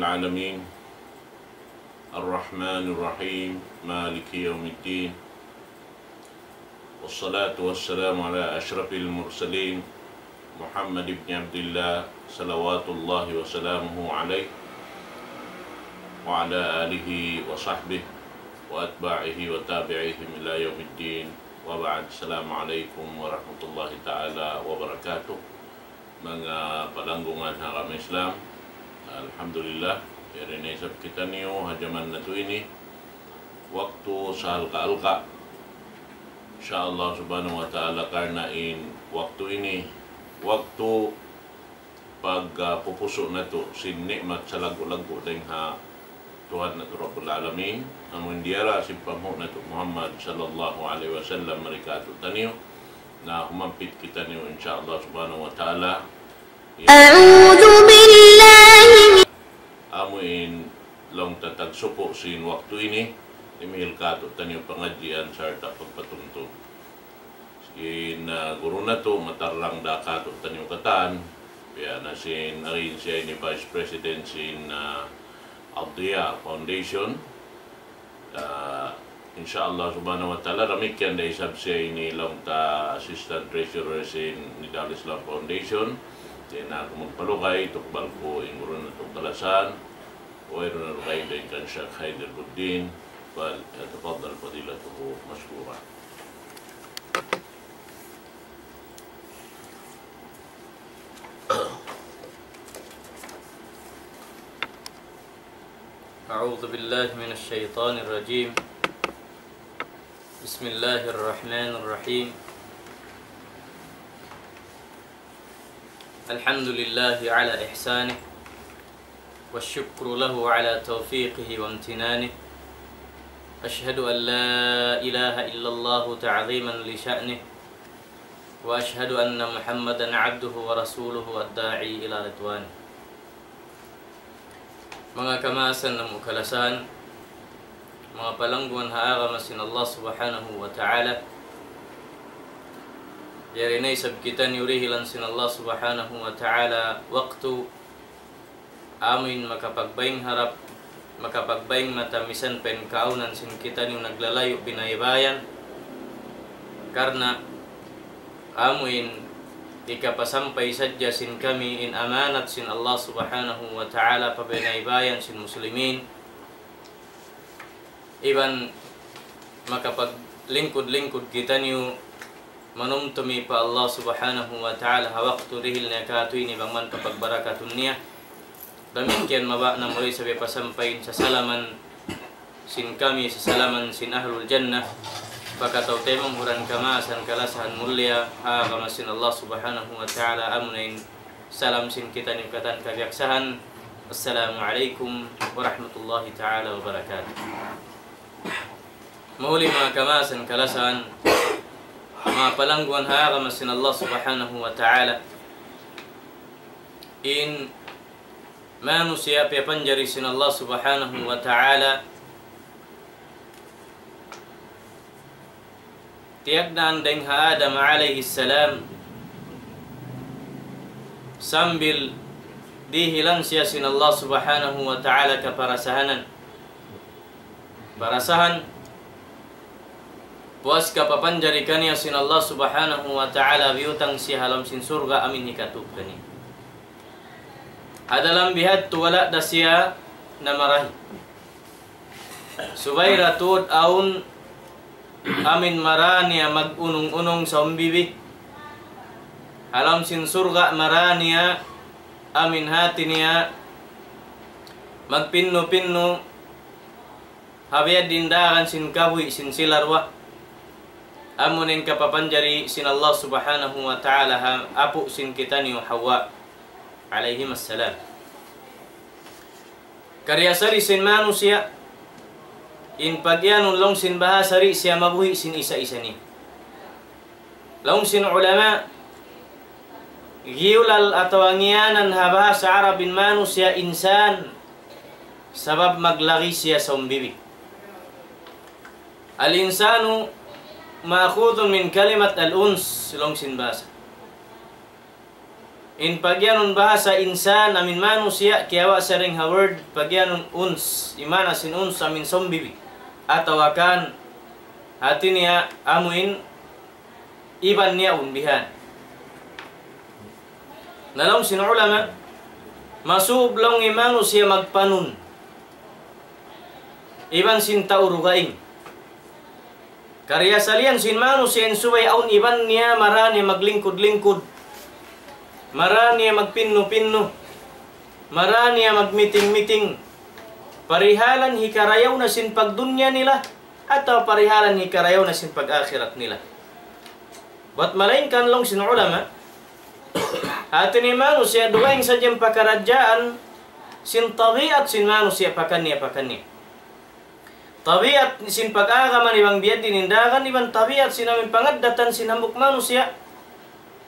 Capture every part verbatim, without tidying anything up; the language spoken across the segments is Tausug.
العالمين، الرحمن الرحيم، مالك يوم الدين، والصلاة والسلام على أشرف المرسلين، محمد بن عبد الله، صلوات الله وسلامه عليه، وعلى آله وصحبه وأتباعه وتابعيهم إلى يوم الدين، وبعد. السلام عليكم ورحمة الله تعالى وبركاته. Manga palanggungan ha agama Islam, alhamdulillah, yari na isab kitaniyu ha jaman natu' ini, waktu saalka-alka'. Insya Allah subhanahu wa ta'ala, karna' in waktu ini, waktu pag, ah, pupusu' natu' sin ni'mat salaggu'-laggu' dayn ha Tuhan natu' Rabbul Alamin, amu in diyara sin panghu' natu' Muhammad sallallahu alayhi wasallam mari kātu'niyu, na humampit kitaniyu, insya Allah subhanahu wa ta'ala. أعوذ بالله من Amu in laung ta tagsuku' sin waktu ini, imihil kātu'niyu pangadjian sarta' pagpatumtum. Sin, ah, guru natu', matarrang da kātu'niyu katān, biya' na sin, ari siya ini Vice President sin, ah, Ad-Diya Foundation. Ah, insya Allah subhanahu wa ta'ala, damikkiyan da isab siya ini laung ta Assistant Treasurer sin Nidal Islam Foundation. Di' na aku magpalugay, tukbal ku in guru natu' kalasahan, wayruun na dugaing dayn kan Sheikh Haider Buddin, فليتفضل فضيلته مشكورا. أعوذ بالله من الشيطان الرجيم. بسم الله الرحمن الرحيم. الحمد لله على إحسانه، والشكر له على توفيقه وامتنانه. أشهد أن لا إله إلا الله تعظيما لشأنه، وأشهد أن محمدا عبده ورسوله الداعي إلى رضوانه. Manga kamaasan namu' kalasahan, manga palangguan ha agama sin Allah Subhanahu wa Ta'ala, yari na isab kitaniyu dihilan sin Allah Subhanahu wa Ta'ala waktu amuin makapagbaying harap, makapagbaying mata misan pa in kaawnan sin kitaniyu naglalayu' binaybayan. Karna' amuin hikapasampay sadja sin kami in amanat sin Allah Subhanahu wa Ta'ala pa binaybayan sin muslimin. Iban makapaglingkud-lingkud kitaniyu manumtumi pa Allah Subhanahu wa Ta'ala ha waktu dihil niya kātu' ini bang man kapagbarakatun niya. Damikkiyan mabaya' na muli isab pasampayn sasalaman sin kami, sasalaman sin ahlul jannah, pa kataw-taymanghuran kamaasan kalasahan mulia ha agama sin Allah Subhanahu wa Ta'ala, amuna in salam sin kitaniyu katan kabiyaksahan. Assalamu alaykum warahmatullahi ta'ala wabarakatuh. Mahuli manga kamaasan kalasahan, manga palangguan ha agama sin Allah Subhanahu wa Ta'ala. In manusiya' piyapanjari sin Allah Subhanahu wa Ta'ala, tiyagnaan dayng ha Adam alayhi salam, sambil dihilan siya sin Allah Subhanahu wa Ta'ala kaparasahanan. Parasahan, puas kapapanjari kaniya sin Allah Subhanahu wa Ta'ala, biyutang siya ha lawm sin surga' amuin hikatub kaniya. Ha dalam bihadtu wala' da siya namarahi. Subay da tuud awn amuin mara niya mag-unung-unung sa umbibi. Ha lawm sin surga' mara niya amuin hati niya magpinnu-pinnu ha biya' diin dagan sin kabuhi' sin sila duwa. Amuna in kapapanjari sin Allah Subhanahu wa Ta'ala ha apu' sin kitaniyu Hawa alayhimas salam. Kariyasari sin manusiya', in pagiyanun laung sin bahasa di' siya mabuhi' sin isa-isa niya. Laung sin ulama, giyulal atawa ngiyanan ha bahasa Arab in manusiya' insan, sabab maglagi siya sa umbibi. الإنسان مأخوذ من كلمة الأنس, laung sin bahasa. In pagiyanun bahasa insan amin manusiya', kiyawa' siya dayn ha word pagiyanun uns, in maana sin uns amin sombibi. Atawa kan hati niya amuin iban niya awn bihan. Na laung sin ulama, masub laung in manusiya' magpanun iban sin tau dugaing. Kariyasalian sin manusiya' in subay awn iban niya, mara niya maglingkud-lingkud, mara niya magpinnu-pinnu, mara niya magmiting-miting. Parihalan hikarayaw na sin pagdunya nila, atawa parihalan hikarayaw na sin pag-akhirat nila. Bat malaingkan laung sin ulama, hati niya manusiya' dugaing sadja in pakaradjaan sin tabiat sin manusiya' pakaniya-pakaniya. Tabiat sin pag-agama iban biya' diin in dagan iban tabiat sin amin pangaddatan sin hambuuk manusiya'.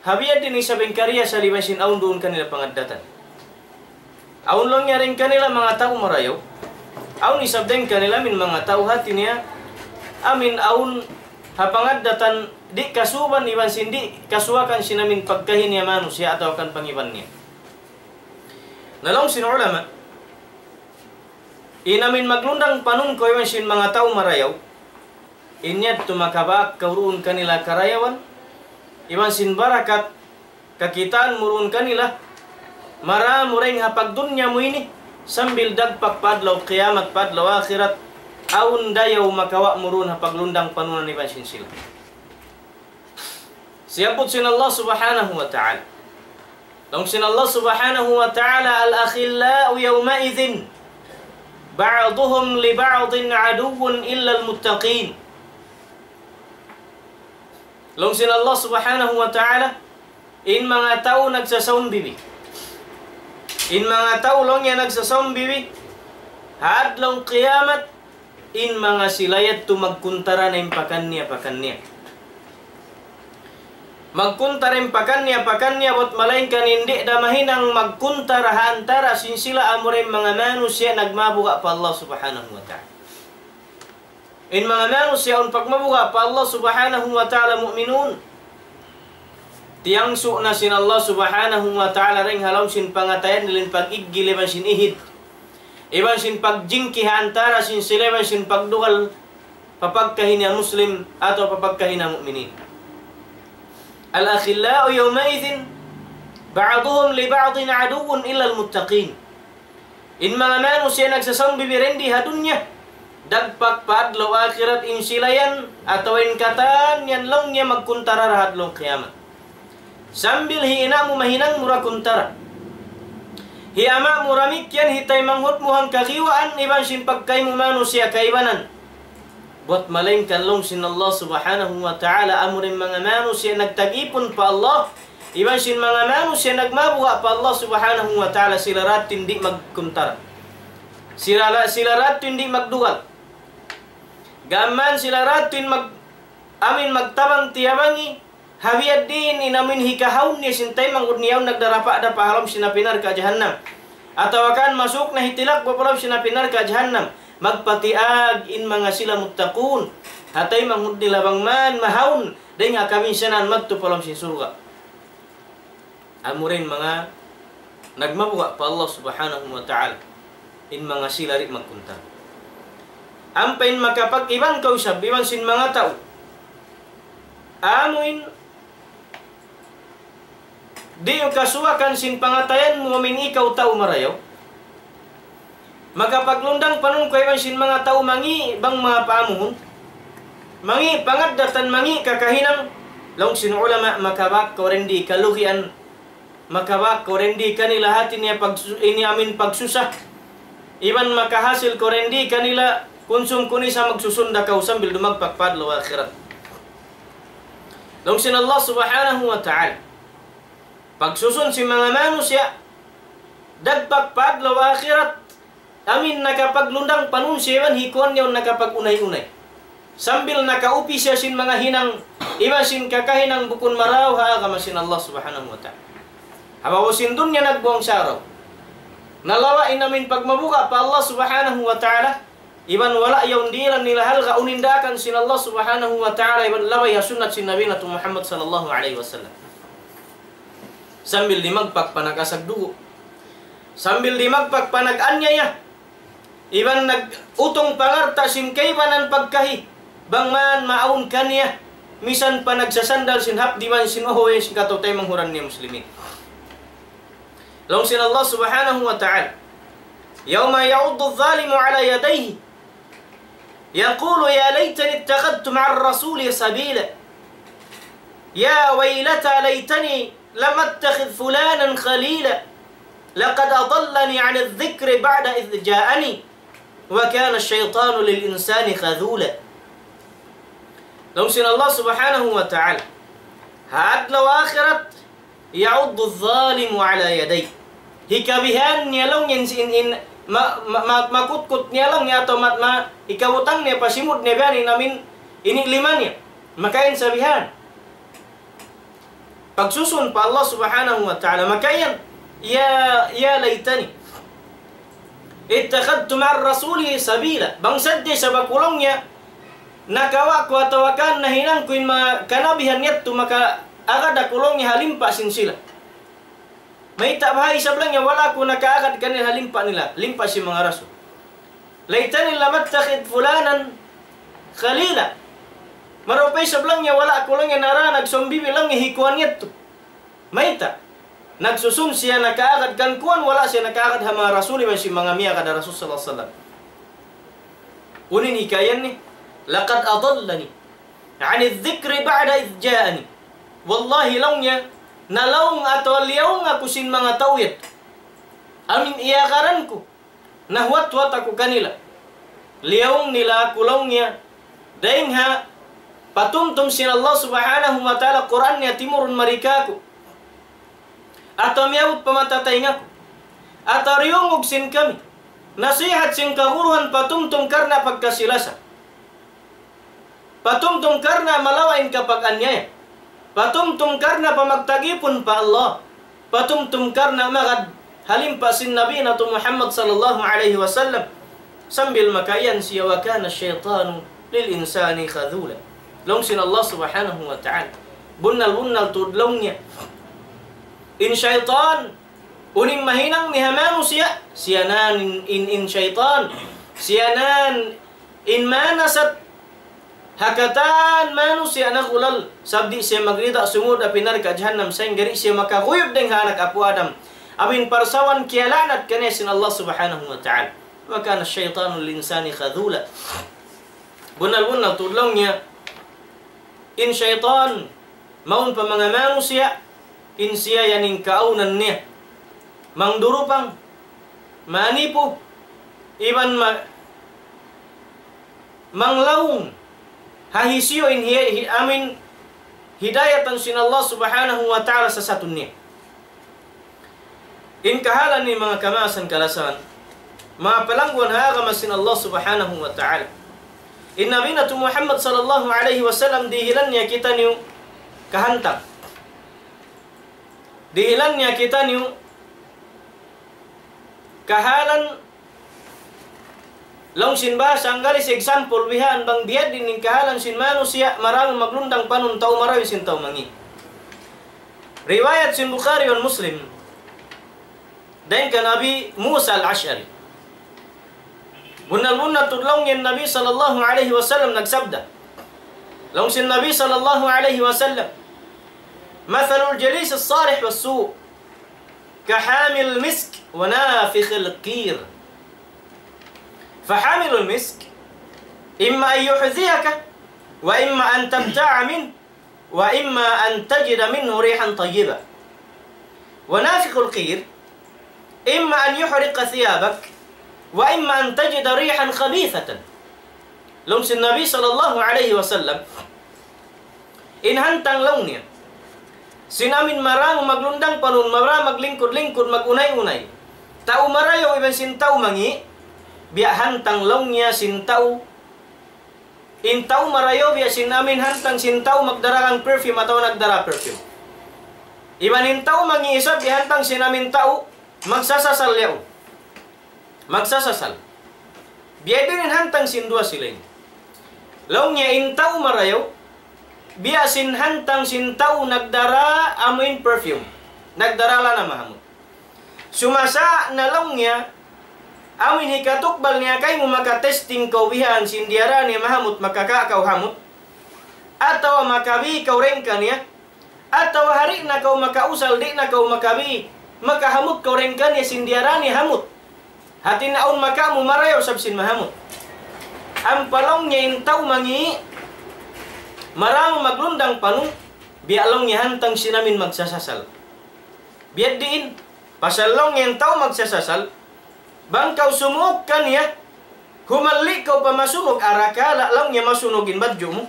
Ha biya' diin isab in kariyasalian sin awn duun kanila pangaddatan. Awn laung niya dayn kanila manga tau marayaw. Awn isab dayn kanila amin manga tau hati niya amin awn ha pangaddatan di' kasuban iban sin di' kasuwakan sin amin pagkahi niya manusiya' atawa kan pangiban niya. Na laung sin ulama, in amin maglundang panun kaw iban sin manga tau marayaw, in yadtu makabak kaw duun kanila karayawan, iban sin barakat kakitaan mu duun kanila, mara mu dayn ha pagdunya mu ini, sambil dagpak pa adlaw kiyamat, pa adlaw akhirat, awn dayaw makawa' mu duun ha paglundang panunan iban sin sila. Siyabbut sin Allah Subhanahu wa Ta'ala. Laung sin Allah Subhanahu wa Ta'ala, الأخلاء يومئذ بعضهم لبعض عدو إلا المتقين. Laung sin Allah Subhanahu wa Ta'ala, in manga tau nagsasaumbibi. In manga tau laung niya nagsasaumbibi, ha adlaw kiyamat, in manga sila yadtu magkuntara na in pakaniya-pakaniya. Magkuntara in pakaniya-pakaniya, bat malaingkan in di' da mahinang magkuntara ha antara sin sila amura in manga manusiya' nagmabuga' pa Allah Subhanahu wa Ta'ala. In manga manusiya' awn pagmabuga' pa Allah Subhanahu wa Ta'ala mu'minun. Tiyangsu' na sin Allah Subhanahu wa Ta'ala dayn ha lawm sin pangatayan nila in pag-iggil iban sin ihid. Iban sin pagjingki ha antara sin sila iban sin pagdugal pa pagkahi niya Muslim atawa pa pagkahi niya mu'minin. الأخلاء يومئذ بعضهم لبعض عدو إلا المتقين. In manga manusiya' nagsasaumbibi dayn di ha dunya, dagpak pa adlaw akhirat in sila yan, atawa in katan yan laung niya magkuntara da ha adlaw kiyamat. Sambil hi ina' mu mahinang mu da kuntara. Hi ama' mu damikkiyan, hi taymanghud mu hangkagiwaan, iban sin pagkahi mu manusiya' kaibanan. Bat malaingkan laung sin Allah Subhanahu wa Ta'ala, amura in manga manusiya' nagtag-ipun pa Allah, iban sin manga manusiya' nagmabuga' pa Allah Subhanahu wa Ta'ala, sila da in di' magkuntara. Sila, sila da in di' magdugal. Gām sila da in mag-, amin magtabang-tiyabangi, ha biya' diin in amin hikahaun niya sin taymanghud niya yaun nagdarapa-dapa ha lawm sin api narka' jahannam. Atawa kan masuk na hitilak pa lawm sin api narka' jahannam. Magpatiag in manga sila muttaqun. Ha taymanghud nila bang man mahaun dayn ha kabinsanaan madtu pa lawm sin surga'. Amura in manga nagmabuga' pa Allah Subhanahu wa Ta'ala. In manga sila di' magkuntara. Ampa in makapag-iban kaw isab iban sin manga tau. Amuin di' kasuwakan sin pangatayan mu amin ikaw tau marayaw. Makapaglundang panun kaw iban sin manga tau mangi' bang manga paamuhun. Mangi' pangaddatan, mangi' kakahinang. Laung sin ulama, makabak kaw dayn di kalugian. Makabak kaw dayn di kanila hati niya pagsu-, ini amin pagsusa. Iban makahasil kaw dayn di kanila kunsum-kunisa, magsusun da kaw sambil dumagpak pa adlaw akhirat. Laung sin Allah Subhanahu wa Ta'ala. Pagsusun sin manga manusiya', dagpak pa adlaw akhirat, amin nakapaglundang panun siya iban hi kuwan niya nakapag-unay-unay. Sambil nakaupi siya sin manga hinang, iban sin kakahinang bukun marayaw ha agama sin Allah Subhanahu wa Ta'ala. Ha babaw sin dunya nagbuwang saraw. Nalawa' in amin pagmabuga' pa Allah Subhanahu wa Ta'ala, iban wala' yaun dihilan nila halga' unu in daakan sin Allah Subhanahu wa Ta'ala, iban labay ha sunnat sin Nabi natu' Muhammad sallallahu alayhi wasallam. Sambil di' magpakpanag-asag dugu'. Sambil di' magpakpanag-anyaya. Iban nag-utung pangarta' sin kaibanan pagkahi. Bang man maawn kaniya. Misan pa nagsasandal sin hapdi' man sin uhuy sin kataw-taymanghuran niya muslimin. Laung sin Allah subhanahu wa ta'ala. يوم يعض الظالم على يديه يقول يا ليتني اتخذت مع الرسول سبيلا. يا ويلتى ليتني لم أتخذ فلانا خليلا. لقد أضلني عن الذكر بعد إذ جاءني. وكان الشيطان للإنسان خذولا. Laung sin Allah subhanahu wa ta'ala. Ha adlaw akhirat, يعض الظالم على يديه. Hikabihan niya laung in, in, in ma, ma, ma, makutkut niya laung niya atawa ma, ma, hikabutang niya pa simud niya bihan in amin ini' lima niya. Makain sabihan. Pagsusun pa Allah subhanahu wa ta'ala. Makain, يا، يا ليتني اتخذت مع الرسول سبيلا. Bang sadja sabab ku laung niya, nakawa' ku atawa kan nahinang ku in manga kanabihan yadtu makaagad aku laung niya ha limpa sin sila. Mayta' baha' isab laung niya wala' aku nakaagad kanila ha limpa nila, limpa sin manga rasul. ليتني لم أتخذ فلانا خليلا. Marupay isab laung niya wala' aku laung niya nara nagsambibi laung niya hi kuwan yadtu. Mayta'? Nagsusun siya nakaagad kan kuwan, wala' siya nakaagad ha manga rasul iban sin manga miyagad ha Rasul sallallahu alayhi wasallam. Unu in hikayan niya, لقد أضلني عن الذكر بعد إذ جاءني. Wallahi laung niya, nalaung atawa liyaung aku sin manga tau yadtu. Amin iyagaran ku. Nahuwat-huwat aku kanila. Liyaung nila aku laung niya. Dayng ha patumtum sin Allah subhanahu wa ta'ala Qur'an niya timurun mari kāku'. Atawa miyabut pa mata taynga ku. Atawa diyungug sin kami. Nasihat sin kaguruhan patumtum karna' pagkasi-lasa. Patumtum karna' malawa' in kapag-anyaya. Patumtum karna' pamagtagipun pa Allah. Patumtum karna' magad ha limpa sin Nabi natu' Muhammad sallallahu alayhi wasallam. Sambil makayan siya وكان الشيطان للإنسان خذولا. Laung sin Allah subhanahu wa ta'ala. Bunnal-bunnal tuud laung niya. In saytan, unu in mahinang niya ha manusiya', siya na in, in, in saytan. Siya na in manasat ha katan manusiya' nagulal, sabab di' siya magrida sumud ha api narka' jahannam, sahingga di' siya makaguyud dayng ha anak apu' Adam. Amu in parsawan kiyala'nat kaniya sin Allah subhanahu wa ta'ala. وكان الشيطان للإنسان خذولا. Bunnal-bunnal tuud laung niya. In saytan, mawn pa manga manusiya', in siya yan in kaawnan niya. Mangdurupang, manipu, iban ma, manglaung, ha hisiyu in hi, hi, amin hidayatan sin Allah subhanahu wa ta'ala sasatun niya. In kahalan ini manga kamaasan kalasahan, manga palangguan ha agama sin Allah subhanahu wa ta'ala. In Nabi natu' Muhammad sallallahu alayhi wasallam dihilan niya kitaniyu kahantang. Dihilan niya kitaniyu kahalan laung sin bahasa Anggalis example bihaan bang biyadiin in kahalan sin manusiya' marayaw maglundang panun tau marayaw sin tau mangi'. Riwayat sin Bukhari iban Muslim. Dayng kan Abi Musa al-Ash'ari. Bunnal-bunnal tuud laung niya in Nabi sallallahu alayhi wasallam nagsabda. Laung sin Nabi sallallahu alayhi wasallam. مثل الجليس الصالح والسوء كحامل المسك ونافخ القير. فحامل المسك إما أن يحذيك وإما أن تبتاع منه وإما أن تجد منه ريحا طيبة. ونافخ القير إما أن يحرق ثيابك وإما أن تجد ريحا خبيثة. Laung sin Nabi sallallahu alayhi wasallam, in hantang laung niya sin amin marayaw maglundang panun, marayaw maglingkud-lingkud, mag-unay-unay, tau marayaw iban sin tau mangi', biya' hantang laung niya sin tau, in tau marayaw biya' sin amin hantang sin tau magdara kan perfume atawa nagdara perfume. Iban in tau mangi' isab biya' hantang sin amin tau magsasasal yaun. Magsasasal. Biyadiin in hantang sin duwa sila ini. Laung niya in tau marayaw, biya' sin hantang sin tau nagdara amuin perfume. Nagdarala na mahamut. Sumasa' na laung niya, amin hikatukbal niya kaymu, maka-testing kaw bihan sin diyara niya mahamut, makaka' kaw hamut, atawa makabi kaw dayn kaniya, atawa di' na kaw makausal, di' na kaw makabi, makahamut kaw dayn kaniya sin diyara niya hamut. Hati niya awn makamu marayaw isab sin mahamut. Ampa laung niya in tau mangi', maramu maglundang panun, biya' laung niya hantang sin amin magsasasal. Biya' diin, pasal laung niya in tau magsasasal, bang kaw sumuuk kaniya, humalli' kaw pa masunug, arakala' laung niya masunug in badju' mu.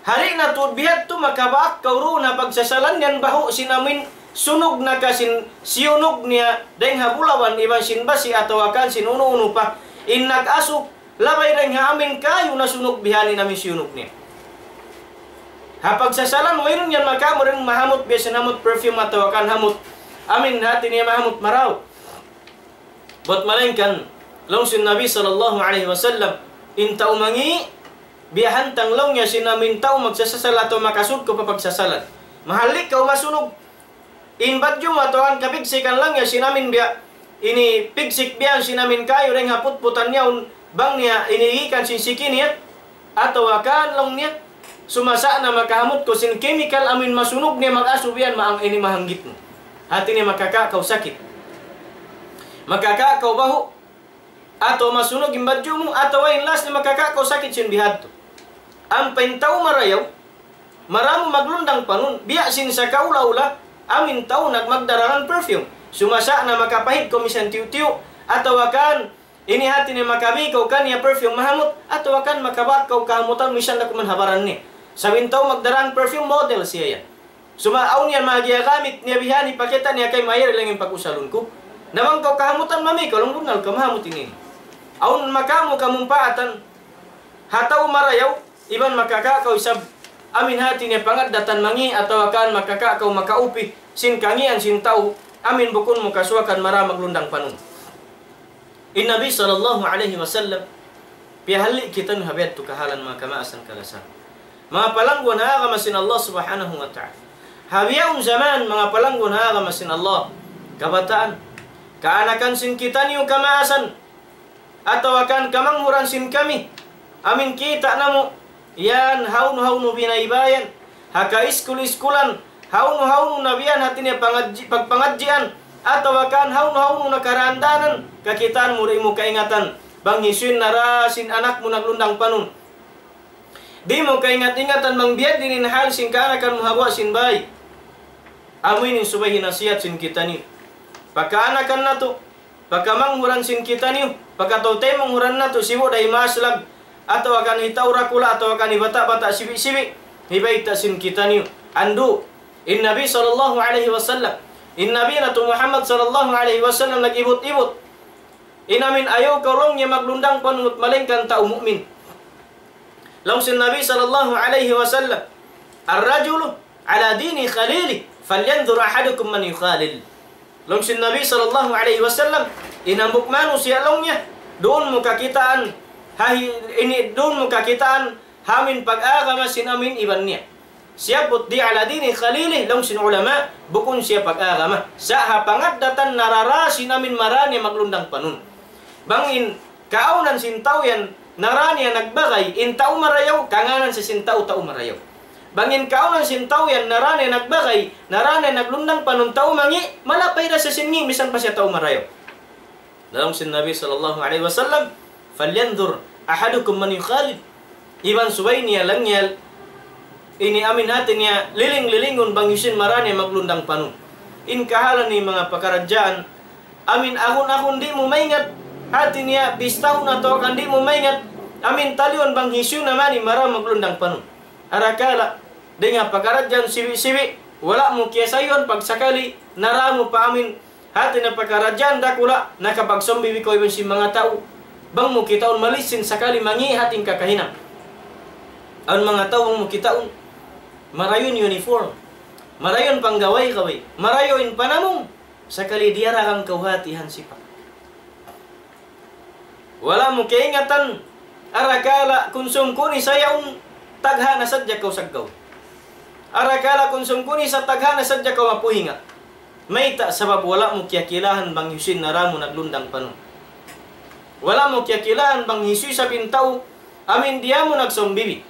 Di' na tuud bihadtu, makabaak kaw duun ha pagsasalan yan, bahu' sin amin sunug na ka sin siyunug niya dayng ha bulawan iban sin basi atawa kan sin unu-unu pa. In nag-asu, labay dayng ha amin kayu nasunug bihan in amin siyunug niya. Ha pagsasalan, wayruun yan makamu dayn mahamut, biya' sin hamut perfume atawa kan hamut amin hati niya mahamut marayaw. Bat malaingkan, laung sin Nabi sallallahu alayhi wasallam, in tau mangi', biya' hantang laung niya sin amin tau magsasasal atawa makasud kaw pa pagsasalan. Mahalli' kaw masunug. In badju' mu atawa kan kapigsikan laung niya sin amin biya', ini pigsik biya' sin amin kayu dayng ha putputan niya, un bang niya ini ikan sin siki niya, atawa kan laung niya, sumasa' na makahamut kaw sin chemical amin masunug niya mag-asu biya' maang ini mahanggit mu. Hati niya makaka' kaw sakit. Makaka' kaw bahu', atawa masunug in badju' mu, atawa in last niya makaka' kaw sakit sin bihadtu. Ampa in tau marayaw, maramu maglundang panun, biya' sin sakaula-ula, amin tau nagmagdarangan perfume. Sumasa' na makapahid kaw misan tiyu'-tiyu', atawa kan ini hati niya makabi kaw kaniya perfume mahamut, atawa kan makabaak kaw kahamutan misan da kuman ha baran niya. Sabab in tau magdarangan perfume model siya yan. Suma awn yan manga giyagamit niya bihan, hipakita' niya kaymu, mayari lang in pag-usalun ku. Na bang kaw kahamutan, mami kaw laung, bunnal ka mahamut ini. Awn makamu kamumpaatan ha tau marayaw, iban makaka' kaw isab amin hati niya pangaddatan mangi' atawa kan makaka' kaw makaupi sin kangian sin tau amin bukun mu kasuwakan maramu maglundang panun. In Nabi sallallahu alayhi wasallam, piyahalli' kitaniyu ha biya' hādtu kahalan manga kamaasan kalasahan. Manga palangguan ha agama sin Allah subhanahu wa ta'ala. Ha bihaun jaman, manga palangguan ha agama sin Allah, kabataan, kaanakan sin kitaniyu kamaasan, atawa kan kamanghuran sin kami, amin kita' namu', yan hawnu-hawnu binaybayan, ha kaiskul-iskulan, hawnu-hawnu na biyan hati niya pangadji-, pagpangadjian, atawa kan hawnu-hawnu na karaandanan, kakitaan mu di' mu kaingatan, bang hisiyu in nara sin anak mu naglundang panun. Di' mu kaingat-ingatan bang biya' diin in hal sin kaanakan mu ha guwa' sin bāy. Amu ini in subay hinasihat sin kitaniyu. Pagkaanakan natu', pagkamanghuran sin kitaniyu, pagkataw-taymanghuran natu', sibu' da hi maas lag, atawa kan hi tau dakula', atawa kan hi bata'-bata' sibi'-sibi', hibayta' sin kitaniyu. Andu', in Nabi sallallahu alayhi wasallam, in Nabi natu' Muhammad sallallahu alayhi wasallam nag-ibut-ibut. In amin ayaw kaw laung niya maglundang panun bat malaingkan tau mu'min. Laung sin Nabi sallallahu alayhi wasallam, الرجل على دين خليله فلينظر أحدكم من يخالل. Laung sin Nabi sallallahu alayhi wasallam, in hambuuk manusiya' laung niya, duun mu kakitaan, ha hi-, ini duun mu kakitaan, ha amin pag-agama sin amin iban niya. Siyabbut di' على دين خليله, laung sin ulama, bukun siya pag-agama. Sa' ha pangaddatan nara-ra sin amin mara niya maglundang panun. Bang in kaawnan sin tau yan, nara niya nagbagay, in tau marayaw, kangānan siya sin tau, tau marayaw. Bang in kaawnan sin tau yan, nara niya nagbagay, nara niya naglundang panun tau mangi', malapay da siya sin ngi', misan pa siya tau marayaw. Laung sin Nabi sallallahu alayhi wasallam, فلينظر أحدكم من يخالل. Iban subay niya laung niya, ini amin hati niya, liling-lilingun bang hisiyu in mara niya maglundang panun. In kahalan ini manga pakaradjaan, amin agun-agun di' mu maingat, hati niya bistahun atawa kan di' mu maingat, amin taliun bang hisiyu na man in mara maglundang panun. Arakala', dayn ha pakaradjaan sibi'-sibi', wala' mu kiyasayuan pagsakali, nara mu pa amin, hati niya pakaradjaan dakula', nakapagsambi bi kaw iban sin manga tau. Bang mu kitaun malisin sakali mangi' hati in kakahinang. Awn manga tau bang mu kitaun, marayaw in uniform, marayaw in panggaway-gaway, marayaw in panamung, sakali diyaragang kaw hati hansipak. Wala' mu kaingatan, arakala' kunsum kuni sa yaun tagha na sadja kaw saggaw. Arakala' kunsum kuni sa tagha na sadja kaw mapuhinga. Mayta'? Sabab wala' mu kiyakilahan bang hisiyu in nara mu naglundang panun. Wala' mu kiyakilahan bang hisiyu isab in tau amin diya mu nagsawm bibi.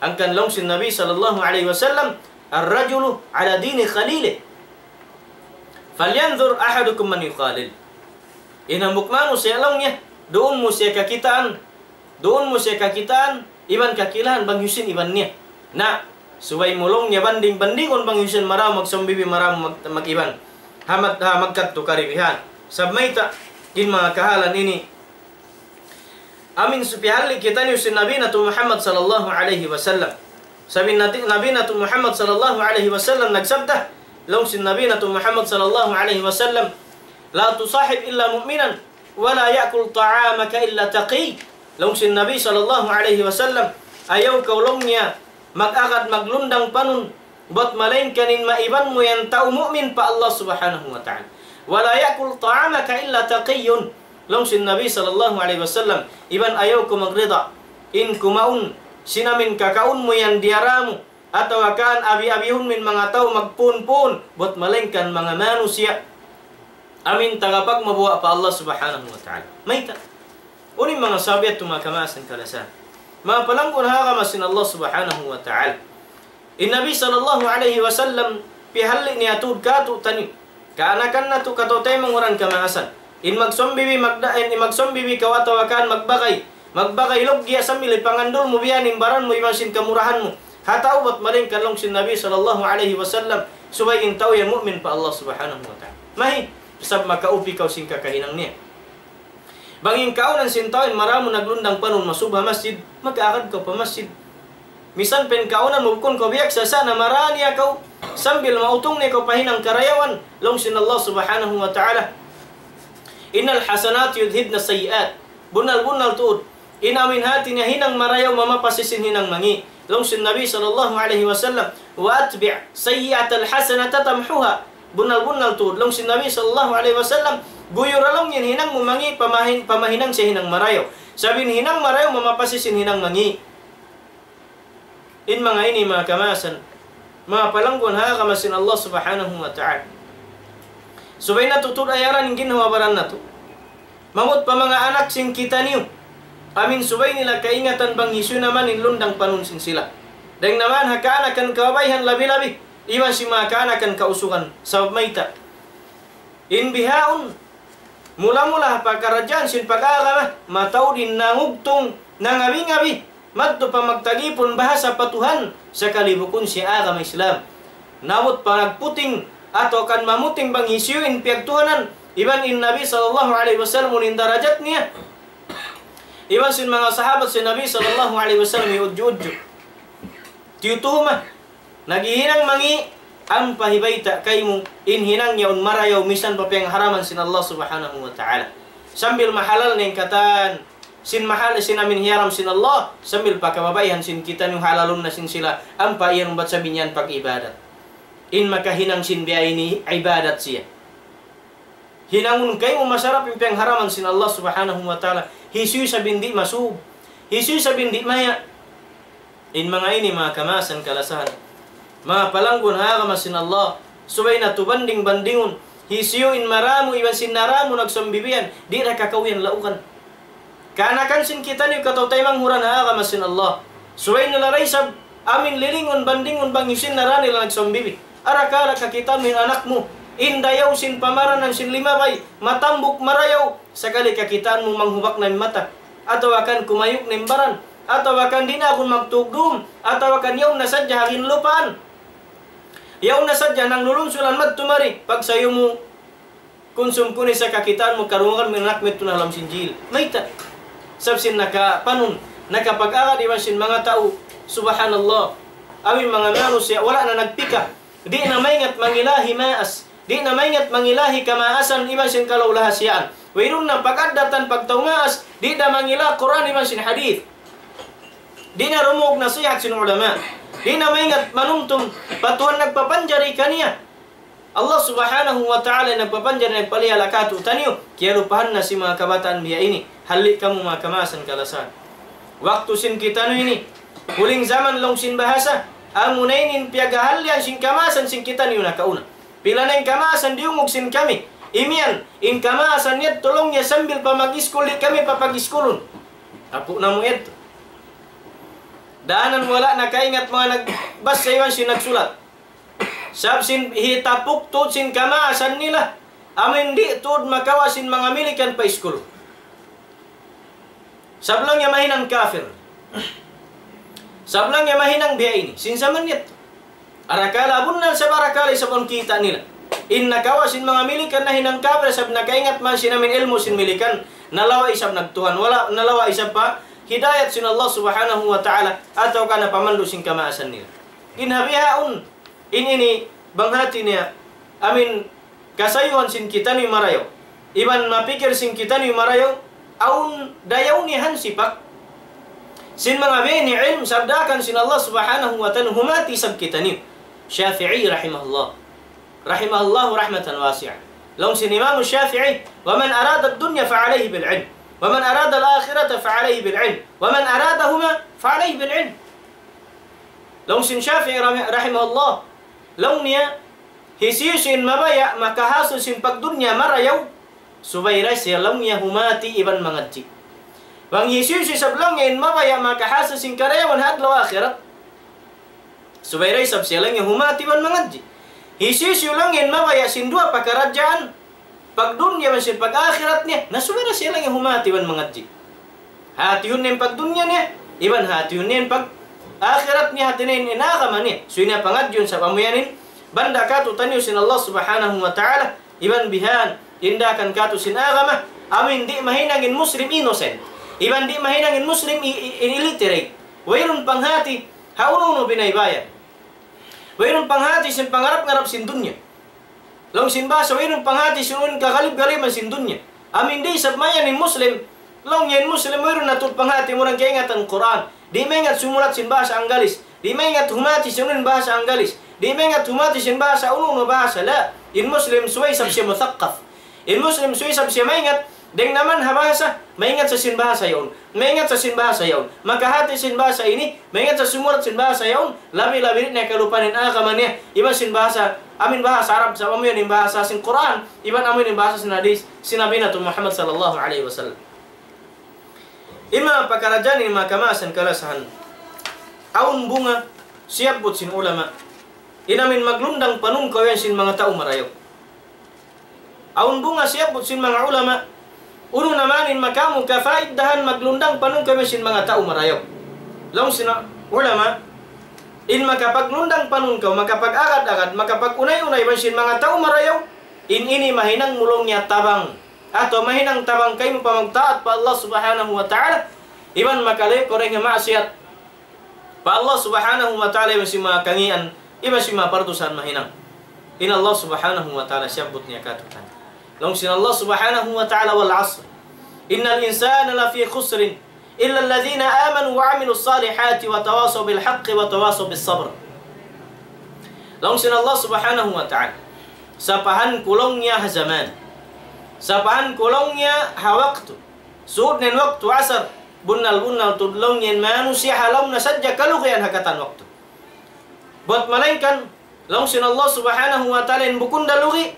Hangkan laung sin Nabi sallallahu alayhi wasallam, "الرجل على دين خليله. فلينظر أحدكم من يخالل." In hambuuk manusiya' laung niya, duun mu siya kakitaan, duun mu siya kakitaan, iban kakilahan bang hisiyu in iban niya. Na, subay mu laung niya banding-bandingun bang hisiyu in marayaw magsawm bibi, marayaw mag-, mag-iban. Ha mat-, ha magkadtu karibihan. Sabab mayta', in manga kahalan ini, amin su pihalli' kitaniyu sin Nabi natu' Muhammad sallallahu alayhi wasallam. Sabab in nati-, Nabi natu' Muhammad sallallahu alayhi wasallam nagsabda, laung sin Nabi natu' Muhammad sallallahu alayhi wasallam, "لا تصاحب إلا مؤمنا ولا يأكل طعامك إلا تقي." Laung sin Nabi sallallahu alayhi wasallam, "Ayaw kaw," laung niya, "mag-agad maglundang panun, bat malaingkan in maiban mu yan tau mu'min pa Allah Subhanahu wa Ta'ala. ولا يأكل طعامك إلا تقي." Laung sin Nabi sallallahu alayhi wasallam, "Iban ayaw kaw magrida in kumaun sin amin kakaun mu yan diyara mu, atawa kan abi-abihun mu in manga tau magpunpun, bat malaingkan manga manusiya' amin tagapagmabuga' pa Allah Subhanahu wa Ta'ala." Mayta'? Unu in manga sabab yadtu, manga kamaasan kalasahan, manga palanggun ha agama sin Allah Subhanahu wa Ta'ala. In Nabi sallallahu alayhi wasallam pihalli' niya tuud kātu'niyu, kaanakan natu', kataw-taymanghuran kamaasan. In magsawm bibi, magda-, in magsawm bibi kaw atawa kan magbagay, magbagay lugya' sambil hipangandul mu biya' in baran mu iban sin kamurahan mu ha tau, bat malaingkan laung sin Nabi sallallahu alayhi wasallam, subay in tau yan mu'min pa Allah Subhanahu wa Ta'ala. Mayta'? Sabab makaupi kaw sin kakahinang niya. Bang in kaawnan sin tau in marayaw mu naglundang panun masub ha masjid, mag-agad kaw pa masjid. Misan pa in kaawnan mu bukun kaw biyaksa, sa' na marayaw niya kaw, sambil mautung niya kaw pa hinang karayawan, laung sin Allah Subhanahu wa Ta'ala, "إن الحسنات يذهبن السيئات." Bunnal-bunnal tuud, in amin hati niya hinang marayaw mamapasis sin hinang mangi'. Laung sin Nabi sallallahu alayhi wasallam, "وأتبع السيئة الحسنة تمحها." Bunnal-bunnal tuud, laung sin Nabi sallallahu alayhi wasallam, guyura laung in hinang mu mangi' pamahin-, pamahinang siya hinang marayaw. Sabab in hinang marayaw mamapasis sin hinang mangi'. In manga ini, manga kamaasan, manga palanggun ha agama sin Allah Subhanahu wa Ta'ala. Subay natu' tuud ayaran in ginhawa-baran natu'. Mangut pa manga anak sin kitaniyu, amin subay nila kaingatan bang hisiyu na man in lundang panun sin sila. Dayng na man ha kaanakan kababaihan labi-labi, iban sin manga kaanakan kausugan. Sabab mayta'? In bihaun, mula-mula ha pakaradjaan sin pag-agama, mataud in nangugtung, nangabi-ngabi, madtu pa magtagipun bahasa pa Tuhan, sakali bukun siya agama Islam. Nabut pa nagputing, atawa kan mamuting bang hisiyu in piyagtuhanan, iban in Nabi sallallahu alayhi wasallam unu in darajat niya. Iban sin manga sahabat sin Nabi sallallahu alayhi wasallam iyudju-udju. Tiyutuhuma, naghihinang mangi', ampa hibayta' kaymu, in hinang yaun marayaw misan pa piyangharaman sin Allah Subhanahu wa Ta'ala. Sambil mahalal na in katan sin mahal, sin amin hiyaram sin Allah, sambil pa kababaihan sin kitaniyu halalun na sin sila, ampa iyan umbat sabab in yan pag-ibadat. In makahinang sin biya' ini ibadat siya. Hinangun kaymu masarap in piyangharaman sin Allah Subhanahu wa Ta'ala. Hisiyu isab in di' masub. Hisiyu isab in di' maya'. In manga ini, manga kamaasan kalasahan, manga palanggun ha agama sin Allah, subay natu' banding-bandingun. Hisiyu in marayaw mu iban sin narayaw mu nagsawm bibi yan, di' da kakawiyan laukan. Kaanakan sin kitaniyu, kataw-taymanghuran ha agama sin Allah, subay nila da isab amin lilingun bandingun bang hisiyu in narayaw nila nagsawm bibi. Arakala' kakitaan mu in anak mu, in dayaw sin pamaranan sin limabay, matambuk marayaw, sakali kakitaan mu manghubak na in mata, atawa kan kumayuk na in baran, atawa kan di' na agun magtugdum, atawa kan yaun na sadja ha ginlupaan. Yaun na sadja nanglulunsulan madtu mari, pagsayu mu, kunsum kunu' sa kakitaan mu, karungugan mu in anak mu yadtu na ha lawm sin jil. Mayta'? Sabab sin nakapanun, nakapag-agad iban sin manga tau, subhanallah. Amin manga manusiya', wala' na nagpikah. Di' na maingat mangila himaas. Di' na maingat mangila hikamaasan iban sin kalaulahasiyaan. Wayruun na pag-addatan pagtau maas, di' na mangila Qur'an iban sin hadith. Di' na rumug nasihat sin ulama. Di' na maingat manumtum pa Tuhan nagpapanjari kaniya. Allah Subhanahu wa Ta'ala nagpapanjari, nagpalihala kātu'niyu. Kiyalupahan na sin manga kabataan biya' ini. Halli' kamu manga kamaasan kalasahan. Waktu sin kitaniyu ini, huling jaman laung sin bahasa, amuna ini in piyaghahallian sin kamaasan sin kitaniyu nakauna. Pila na in kamaasan diyungug sin kami. Imiyan, in kamaasan yadtu laung niya sambil pa mag-iskul di' kami papag-iskulun. Apu' namu' yadtu. Danan wala' nakaingat manga nagbasa iban sin nagsulat. Sabab sin hitapuk tuud sin kamaasan nila. Amu in di' tuud makawa' sin manga Milikan pa iskul. Sabab laung niya mahinang kafir. Sabab laung niya mahinang biya' ini. Sin jaman yadtu. Arakala' bunnal sabab arakala' isab awn kita' nila. In nakawa' sin manga Milikan nahinang kafir sabab nakaingat man sin amin ilmu' sin Milikan. Nalawa' isab nagtuhan. Wala', nalawa' isab pa hidayat sin Allah Subhanahu wa Ta'ala. Atawa ka napamandu' sin kamaasan nila. In ha bihaun. In ini bang hati niya, amin kasayuhan sin kitaniyu marayaw. Iban mapikil sin kitaniyu marayaw, awn dayaw niya hansipak. Sin manga bini ilm sabdakan sin Allah Subhanahu wa Ta'ala humati isab kitaniyu. Shafi'i rahimahullah. Rahimahullah rahmatan wasi'ah. Laung sin Imam Shafi'i, ومن أراد الدنيا فعليه بالعلم، ومن أراد الآخرة فعليه بالعلم، ومن أرادهما فعليه بالعلم. Laung sin Shafi'i rami-, rahimahullah, laung niya, hisiyu-siyu in mabaya' makahasil sin pagdunya marayaw, subay da siya laung niya humati iban mangadji'. Bang hisiyu-siyu isab laung niya in mabaya' makahasil sin karayawan ha adlaw akhirat, subay da isab siya laung niya humati iban mangadji'. Hisiyu-siyu laung niya in mabaya' sin duwa pakaradjaan, pagdunya iban sin pag-akhirat niya, na subay da siya laung niya humati iban mangadji'. Hatihun niya in pagdunya niya, iban hatihun niya in pag-akhirat niya, hati niya in, in agama niya. Subay niya pangadjiun sabab amu yan in banda' kātu'niyu sin Allah Subhanahu wa Ta'ala, iban bihan, tindakan kātu' sin agama, amin di' mahinang in Muslim innocent. Iban di' mahinang in Muslim i-, i-, in illiterate. Wayruun panghati, ha unu-unu binaybayan. Wayruun panghati sin pangarap-ngarap sin dunya. Laung sin bahasa, wayruun panghati sin unu in kagalib-galiban sin dunya. Amin di' isab mayan in Muslim. Laung niya in Muslim, wayruun na tuud panghati, mura kaingatan Qur'an. Di' maingat sumulat sin bahasa Anggalis. Di' maingat humati sin unu in bahasa Anggalis. Di' maingat humati sin bahasa unu-unu bahasa. La, in Muslim subay isab siya muthaqqaf. In Muslim subay isab siya maingat, dayng naman ha bahasa, maingat sa sin bahasa yaun. Maingat sa sin bahasa yaun. Makahati sin bahasa ini, maingat sa sumulat sin bahasa yaun, labi-labi di' na kalupahan in agama niya, iban sin bahasa, amin bahasa Arab, sabab amu yan in bahasa sin Qur'an, iban amu yan in bahasa sin hadith, sin Nabi natu' Muhammad sallallahu alayhi wasallam. In manga pakaradjaan ini manga kamaasan kalasahan. Awn bunga, siyabbut sin ulama. In amin maglundang panungkaw yan sin manga tau marayaw. Awn bunga siyabbut sin manga ulama. Unu na man in makamu kafaiddahan maglundang panungkaw iban sin manga tau marayaw. Laung sin ulama, in makapaglundang panungkaw, makapag-agad-agad, makapag-unay-unay iban sin manga tau marayaw, in ini mahinang mu laung niya tabang. Atawa mahinang tabang kaymu pa magtaat pa Allah Subhanahu wa Ta'ala, iban makalayu' kaw dayn ha maksiyat pa Allah Subhanahu wa Ta'ala iban sin manga kangīan, iban sin manga pardusahan mahinang. In Allah Subhanahu wa Ta'ala siyabbut niya kātu'niyu. Laung sin Allah Subhanahu wa Ta'ala, والعصر إن الإنسان لفي خسر إلا الذين آمنوا وعملوا الصالحات وتواصوا بالحق وتواصوا بالصبر. Laung sin Allah Subhanahu wa Ta'ala, sapahan ku laung niya ha jaman. Sapahan ku laung niya ha waktu. Sūd na in waktu asar, bunnal-bunnal tuud laung niya in manusiya' ha lawm na sadja kalugian ha katan waktu. Buwat malaingkan, laung sin Allah Subhanahu wa Ta'ala in bukun da lugi',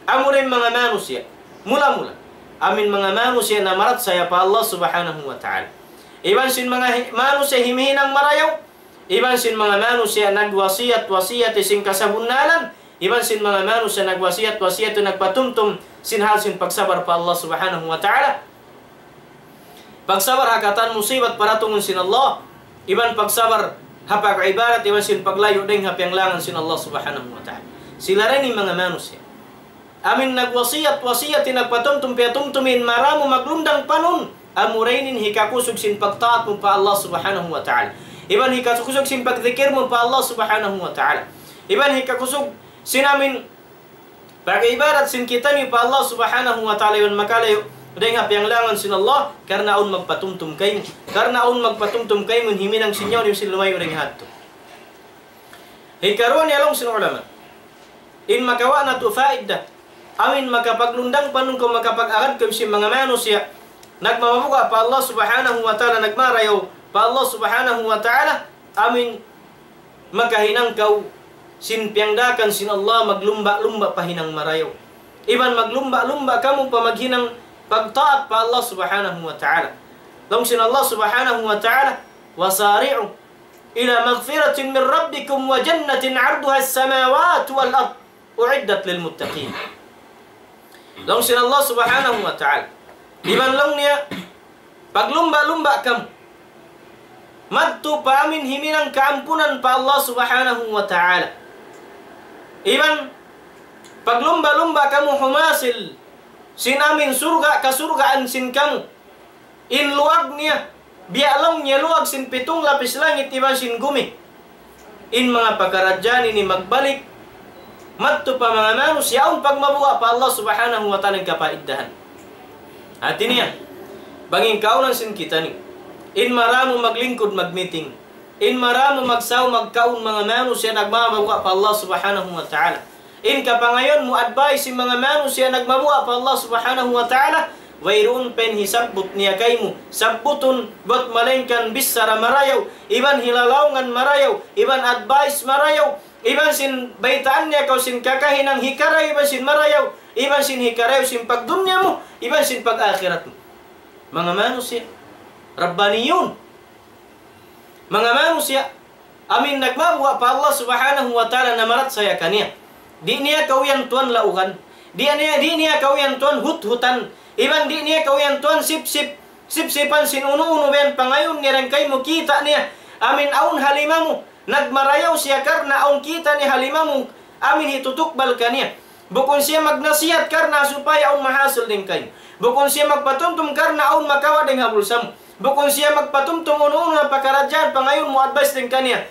amura in manga manusiya'. Mula-mula. Amu in manga manusiya' namarachaya pa Allah Subhanahu wa Ta'ala. Iban sin manga hi-, manusiya' himihinang marayaw, iban sin manga manusiya' nagwasiyat-wasiyat sin kasabunnalan, iban sin manga manusiya' nagwasiyat-wasiyat nagpatumtum sin hal sin pagsabar pa Allah Subhanahu wa Ta'ala. Pagsabar ha katan musibat paratungun sin Allah, iban pagsabar ha pag-ibadat, iban sin paglayu' dayn ha piyanglangan sin Allah Subhanahu wa Ta'ala. Sila ra ini manga manusiya'. Amu in nagwasiyat-wasiyat, nagpatumtum piyatumtum in marayaw maglundang panun, amura ini in hikakusug sin pagtaat mu pa Allah Subhanahu wa Ta'ala. Iban hikakusug sin pagdikir mu pa Allah Subhanahu wa Ta'ala. Iban hikakusug sin amu in pag-ibadat sin kitaniyu pa Allah Subhanahu wa Ta'ala iban makalayu' dayn ha piyanglangan sin Allah, karna' awn magpatumtum kaymu. Karna' awn magpatumtum kaymu in himinang sin nyawa niyu sin lumayu' dayn ha yadtu. Hikaruwa niya laung sin ulama. In makawa' natu' faida. Amu in makapaglundang panun kaw, makapag-agad kaw sin manga manusiya'. Nagmamabuga' pa Allah Subhanahu wa Ta'ala, nagmarayaw pa Allah Subhanahu wa Ta'ala. Amu in makahinang kaw sin piyangdaakan sin Allah, maglumba-lumba pa hinang marayaw. Iban maglumba-lumba kamu pa maghinang pagtaat pa Allah Subhanahu wa Ta'ala. Laung sin Allah Subhanahu wa Ta'ala, وسارعوا إلى مغفرة من ربكم وجنة عرضها السماوات والأرض أعدت للمتقين. Laung sin Allah Subhanahu wa Ta'ala. Iban laung niya, paglumba-lumba kamu madtu pa amin himinang kaampunan pa Allah Subhanahu wa Ta'ala. Iban paglumba-lumba kamu humasil sin amin surga', kasurgaan sin kamu. In luwag niya, biya' laung niya luwag sin pitung lapis langit iban sin gumi. In manga pakaradjaan ini magbalik madtu pa manga manusiya' awn pagmabuga' pa Allah Subhanahu wa Ta'ala in kapaiddahan. Hati niya, bang in kaawnan sin kitaniyu, in maramu maglingkud magmiting, in maramu magsaw magkaun manga manusiya' nagmabuga' pa Allah Subhanahu wa Ta'ala. In kapangayu' mu advice sin manga manusiya' nagmabuga' pa Allah Subhanahu wa Ta'ala, wayruun pa in hisabbut niya kaymu, sabbutun, bat malaingkan bichara marayaw, iban hilalaungan marayaw, iban advice marayaw, iban sin baytaan niya kaw sin kakahinang hikarayaw, iban sin marayaw, iban sin hikarayaw sin pagdunya mu, iban sin pag-akhirat mu. Manga manusiya', rabbaniyun. Manga manusiya', amin nagmabuga' pa Allah Subhanahu wa Ta'ala namarachaya kaniya. Di' niya kaw yan tuwan laugan. Di' niya, di' niya kaw yan tuwan huthutan. Iban di' niya kaw yan tuwan sipsip, sipsipan sin unu-unu biya' yan pangayuun niya dayn kaymu kita' niya. Amin awn ha lima mu. Nagmarayaw siya karna' awn kita' niya ha lima mu. Amin hitutukbal kaniya. Bukun siya magnasihat karna' supaya awn mahasil dayn kaymu. Bukun siya magpatumtum karna' awn makawa' dayn ha bulsa mu. Bukun siya magpatumtum unu-unu na pakaradjaan pangayuun mu advice dayn kaniya.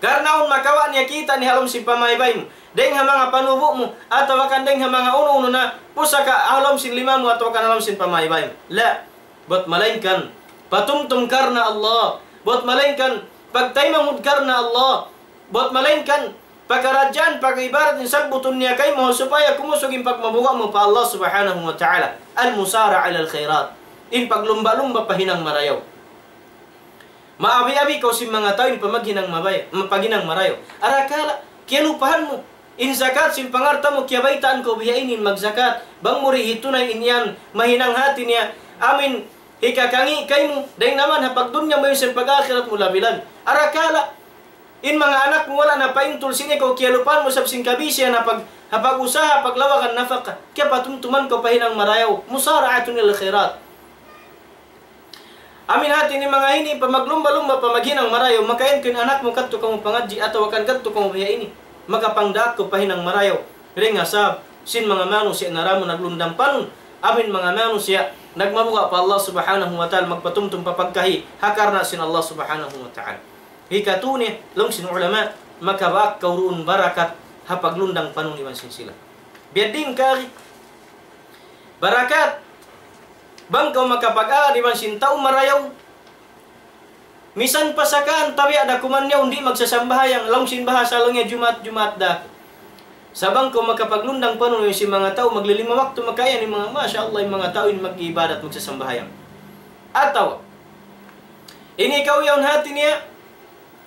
Karna' awn makawa' niya kita' niya ha lawm sin pamaybay mu. Dayn ha manga panubu' mu, atawa kan dayn ha manga unu-unu na pusaka' ha lawm sin lima mu, atawa kan ha lawm sin pamaybay mu. La, bat malaingkan patumtum karna' Allah. Bat malaingkan pagtaymanghud karna' Allah. Bat malaingkan pakaradjaan, pag-ibarat in sabbutun niya kaymu supaya kumusug in pagmabuga' mu pa Allah Subhanahu wa Ta'ala. المسارعة إلى الخيرات. In paglumba-lumba pa hinang marayaw. Maabi-abi kaw sin manga tau in pamaghinang mabaya-, paghinang marayaw. Arakala', kiyalupahan mu. In zakat sin pangalta' mu, kiyabaytaan kaw biya' ini in magzakat. Bang mu di' hitunay in yan, mahinang hati niya. Amin, hikakangi' kaymu, dayn naman ha pagdunya mu yan sin pag-akhirat mu labi-labi. Arakala', in manga anak mu wala' na paintul sin ikaw, kiyalupahan mu sabab sin kabisihan ha pag-, ha pag-usaha, paglawagan nafaka. Kiyapatumtuman kaw pa hinang marayaw. مسارعة إلى الخيرات. Amin hati niya manga ini, pamaglumba-lumba, pamaghinang marayaw, makain kaw in anak mu kadtu kamu pangadji', atawa kan kadtu kamu biya' ini. Makapangdaak kaw pa hinang marayaw. Dayn ha sabab sin manga manusiya' naramu naglundang panun. Amin manga manusiya' nagmabuga' pa Allah Subhanahu wa Ta'ala, magpatumtum pa pagkahi, ha karna' sin Allah Subhanahu wa Ta'ala. Hikatu niya, laung sin ulama, makabaak kaw duun barakat ha paglundang panun iban sin sila. Biya' diin kari barakat, bang kaw makapag-agad iban sin tau marayaw, misan pa sakaan tabiya' da kuman niya, di' magsasambahayang, laung sin bahasa laung niya Jumaat, Jumaat da. Sa' bang kaw makapaglundang panun sin manga tau, maglilima waktu makayan in manga, masha Allah, in manga tau in mag-ibadat, magsasambahayang. Atawa, ini kaw yaun hati niya,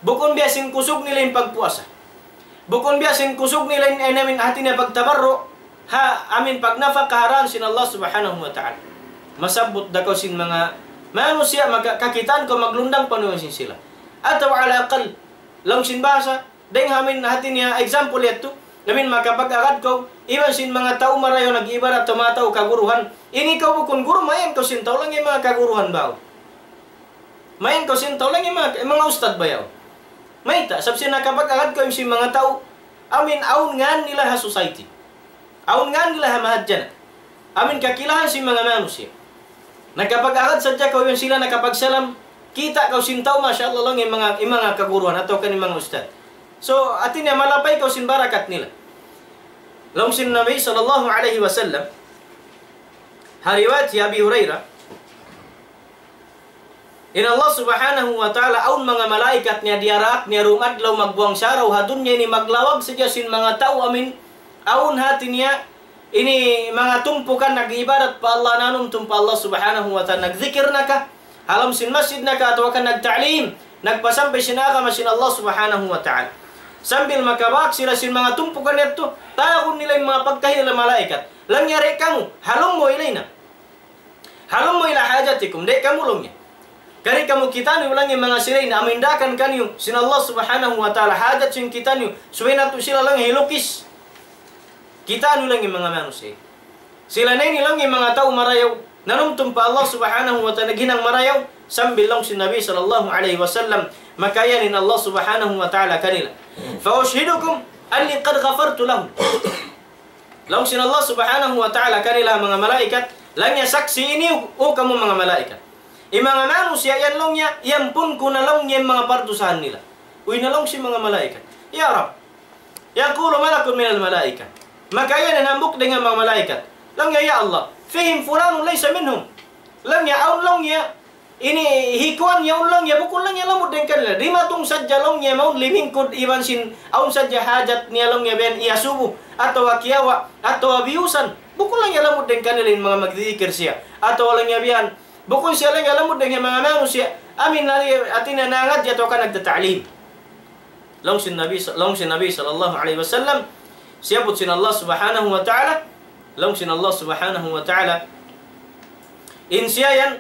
bukun biya' sin kusug nila in pagpuasa. Bukun biya' sin kusug nila in, in amin hati niya pagtabarru', ha, amin pagnafaka ha dān sin Allah Subhanahu wa Ta'ala. Masabbut da kaw sin manga manusiya' maka-, kakitaan kaw maglundang panun sin sila. Atawa ala aqal, laung sin bahasa, dayn ha amin hati niya example yadtu, amin makapag-agad kaw, iban sin manga tau marayaw nag-ibarat tumataw kaguruhan. Ini kaw bukun guru, mayan kaw sin tau laung in manga kaguruhan baw. Mayan kaw sin tau laung in manga, manga ustad bayaw. Mayta', sabab sin nakapag-agad kaw sin manga tau, amin awn ngan nila ha society. Awn ngan nila ha mahadjana. Amin kakilahan sin manga manusiya'. Nakapag-agad sadja kaw yan sila nakapagsalam, kita' kaw sin tau, masha Allah, laung in manga, in manga kaguruhan atawa kan in manga ustad. So, hati niya malapay kaw sin barakat nila. Laung sin Nabi sallallahu alayhi wasallam, ha riwayat hi Abi Hurairah, in Allah Subhanahu wa Ta'ala, awn manga malaikat niya diyaraak niya duun adlaw magbuwang saraw ha dunya ini, maglawag sadja sin manga tau amin awn hati niya ini manga tumpukan nag-ibadat pa Allah, nanumtum pa Allah Subhanahu wa Ta'ala, nagzikir na ka, ha lawm sin masjid na ka, atawa kan nagta'lim, nagpasampay sin agama sin Allah Subhanahu wa Ta'ala. Sambil makabak sila sin manga tumpukan yadtu, tawagun nila in manga pagkahi nila malaikat. Laung niya, "Di' kamu, هلموا إلينا. هلموا إلى حاجتكم." Di' kamu, laung niya. Kari kamu kitaniyu, laung niya, manga sila ini, amu in daakan kaniyu sin Allah Subhanahu wa Ta'ala, hajat sin kitaniyu, subay natu' sila, laung niya, hilukis. Kitaniyu, laung niya, manga manusiya'. Sila na ini, laung niya, manga tau marayaw, nanumtum pa Allah Subhanahu wa Ta'ala, naghinang marayaw, sambil laung sin Nabi sallallahu alayhi wasallam, makayan in Allah Subhanahu wa Ta'ala kanila. فأشهدكم أني قد غفرت لهم. Laung sin Allah Subhanahu wa Ta'ala kanila, manga malaikat, laung niya, saksi' ini, o kamu manga malaikat. In manga manusiya' yan, laung niya, iyampun ku na, laung niya, in manga pardusahan nila. Uy, na, laung sin manga malaikat, "يا رب." يقول ملك من الملائكة. Makayan in hambuuk dayn ha manga malaikat. Laung niya, "يا الله، فيهم فلان ليس منهم." Laung niya, awn, laung niya, ini hi kuwan yaun, laung niya, bukun, laung niya, lamud dayn kanila. Dimatung sadja, laung niya, mawn limingkud iban sin, awn sadja hajat niya, laung niya, biya' yan iyasubu, atawa kiyawa', atawa biyusan. Bukun, laung niya, lamud dayn kanila in manga magdidikir siya. Atawa, laung niya, biya' yan, bukun siya, laung niya, lamud dayn ha manga manusiya'. Amu in, hati niya, nangadji' atawa ka nagtata'lim. Laung sin Nabi, laung sin Nabi sallallahu alayhi wasallam, siyabbut sin Allah Subhanahu wa Ta'ala, laung sin Allah Subhanahu wa Ta'ala, in siya yan,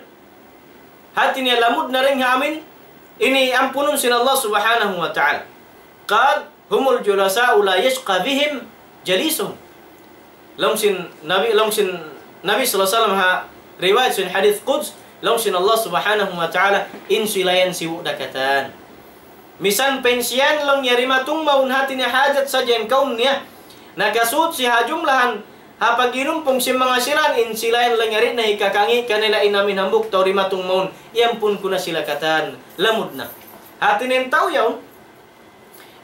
hati niya, lamud na dayn ha amu in, ini ampunun sin Allah Subhanahu wa Ta'ala. قال: هم الجلساء لا يشقى بهم جليسهم. Laung sin Nabi, laung sin Nabi sallallahu alayhi wasallam ha riwayat sin hadith Quds, laung sin Allah Subhanahu wa Ta'ala, in sila yan sibu' da katan. Misan pa in siya yan, laung niya, dimatung mawn, hati niya, hajat sadja in kawm niya. Nakasud siya ha jumlahan, ha pag'inumpung sin manga sila yan, in sila yan, laung niya, di' na hikakangi' kanila in amu in hambuuk tau dimatung mawn, iyampun ku na sila katan, lamud na. Hati niya in tau yaun,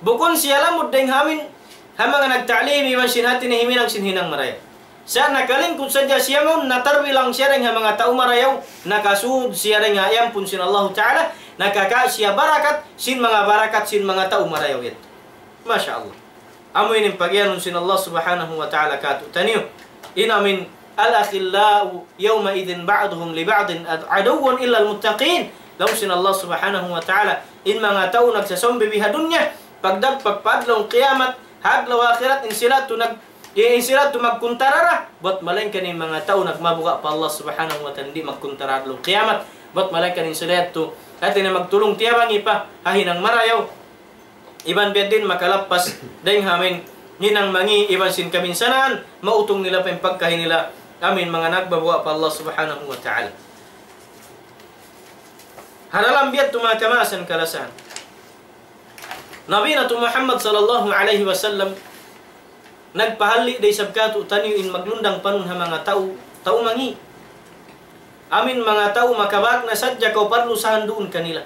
bukun siya lamud dayn ha amu in, ha manga nagta'lim iban sin, hati niya, huminang sin hinang marayaw. Sa' nakalingkud sadja siya mawn, natarbilang siya dayn ha manga tau marayaw, nakasud siya dayn ha iyampun sin Allahu Ta'ala, nakakawa' siya barakat sin manga barakat sin manga tau marayaw yadtu. Masha Allah. Amu ini in pagiyanun sin Allah Subhanahu wa Ta'ala kātu'niyu. In amu in, الأخلاء يومئذ بعضهم لبعض عدو إلا المتقين. Laung sin Allah Subhanahu wa Ta'ala, in manga tau nagsasumbi biha dunya, pagdagpak pa adlaw kiyamat, ha adlaw akhirat, in sila tu nag-, in sila tu magkuntara ra, bat malaingkan in manga tau nagmabuga' pa Allah Subhanahu wa Ta'ala, di' magkuntara adlaw kiyamat, bat malaingkan in sila tu, hati niya, magtulung-tiyabangi pa ha hinang marayaw. Iban biya' diin makalappas dayn ha amu in hinang mangi' iban sin kabinsanaan, mautung nila pa in pagkahi nila, amu in manga nagbabuga' pa Allah Subhanahu wa Ta'ala. Ha dalam biya' tu manga kamaasan kalasahan, Nabi natu' Muhammad sallallahu alayhi wasallam nagpahalli' da isab kātu'niyu in maglundang panun ha manga tau, tau mangi'. Amu in manga tau makabak na sadja kaw pardusahan duun kanila.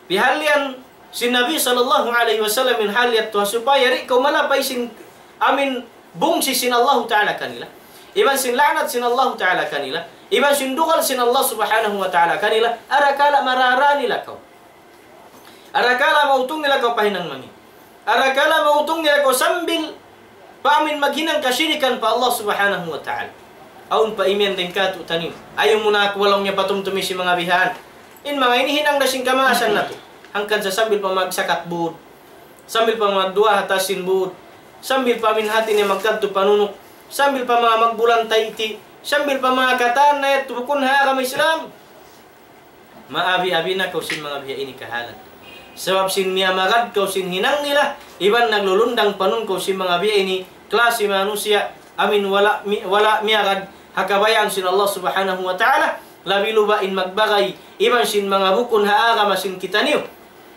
Pihallian sin Nabi sallallahu alayhi wasallam in hal yadtu ha supaya di' kaw malapay sin amu in bungsi sin Allahu Ta'ala kanila, iban sin la'nat sin Allahu Ta'ala kanila, iban sin dugal sin Allah Subhanahu wa Ta'ala kanila, arakala' marara nila kaw. Arakala' mautung nila kaw pa hinang mangi'. Arakala' mautung nila kaw sambil pa amu in maghinang kasirikan pa Allah Subhanahu wa Ta'ala. Awn pa imiyan dayn kātu'niyu. Ayaw mu na aku, laung niya, patumtumi sin manga bihan. In manga ini hinang da sin kamaasan natu'. Hangkan sa sambil pa magsakat būd. Sambil pa magduwaa ha taas sin būd. Sambil pa amu in hati niya magkadtu panunuk. Sambil pa manga magbulan tayti'. Sambil pa manga katan na yadtu bukun ha agama Islam. Maabi-abi na kaw sin manga biya' ini kahalan. Sabab sin miyamagad kaw sin hinang nila, iban naglulundang panun kaw sin manga biya' ini klasi manusiya', amu in wala' mi-, wala' miyagad ha kabayaan sin Allah Subhanahu wa Ta'ala, labi-luba in magbagay iban sin manga bukun ha agama sin kitaniyu.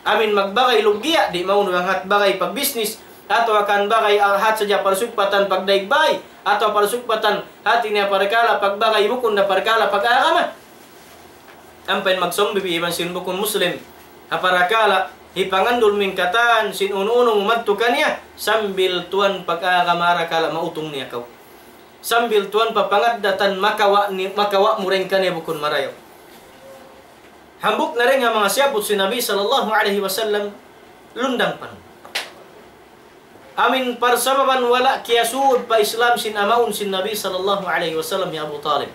Amu in magbagay luggiya', di' maunu bang hat bagay pagbisnis, atawa kan bagay, ah, hat sadja parsugpatan pagdaig bay, atawa parsugpatan hati niya parkala' pagbagay bukun da parkala' pag-agama. Ampa in magsumbi iban sin bukun Muslim ha parakala' hipangandul mu in katan sin unu-unu mu madtu kaniya, sambil tuwan pag-agama arakala' mautung niya kaw. Sambil tuwan pa pangaddatan makawa' ni-, makawa' mu dayn kaniya bukun marayaw. Hambuuk na dayn ha manga siyabbut sin Nabi sallallahu alayhi wasallam, lundang panun. Amu in parsababan wala' kiyasud pa Islam sin amaun sin Nabi sallallahu alayhi wasallam hi Abu Talib.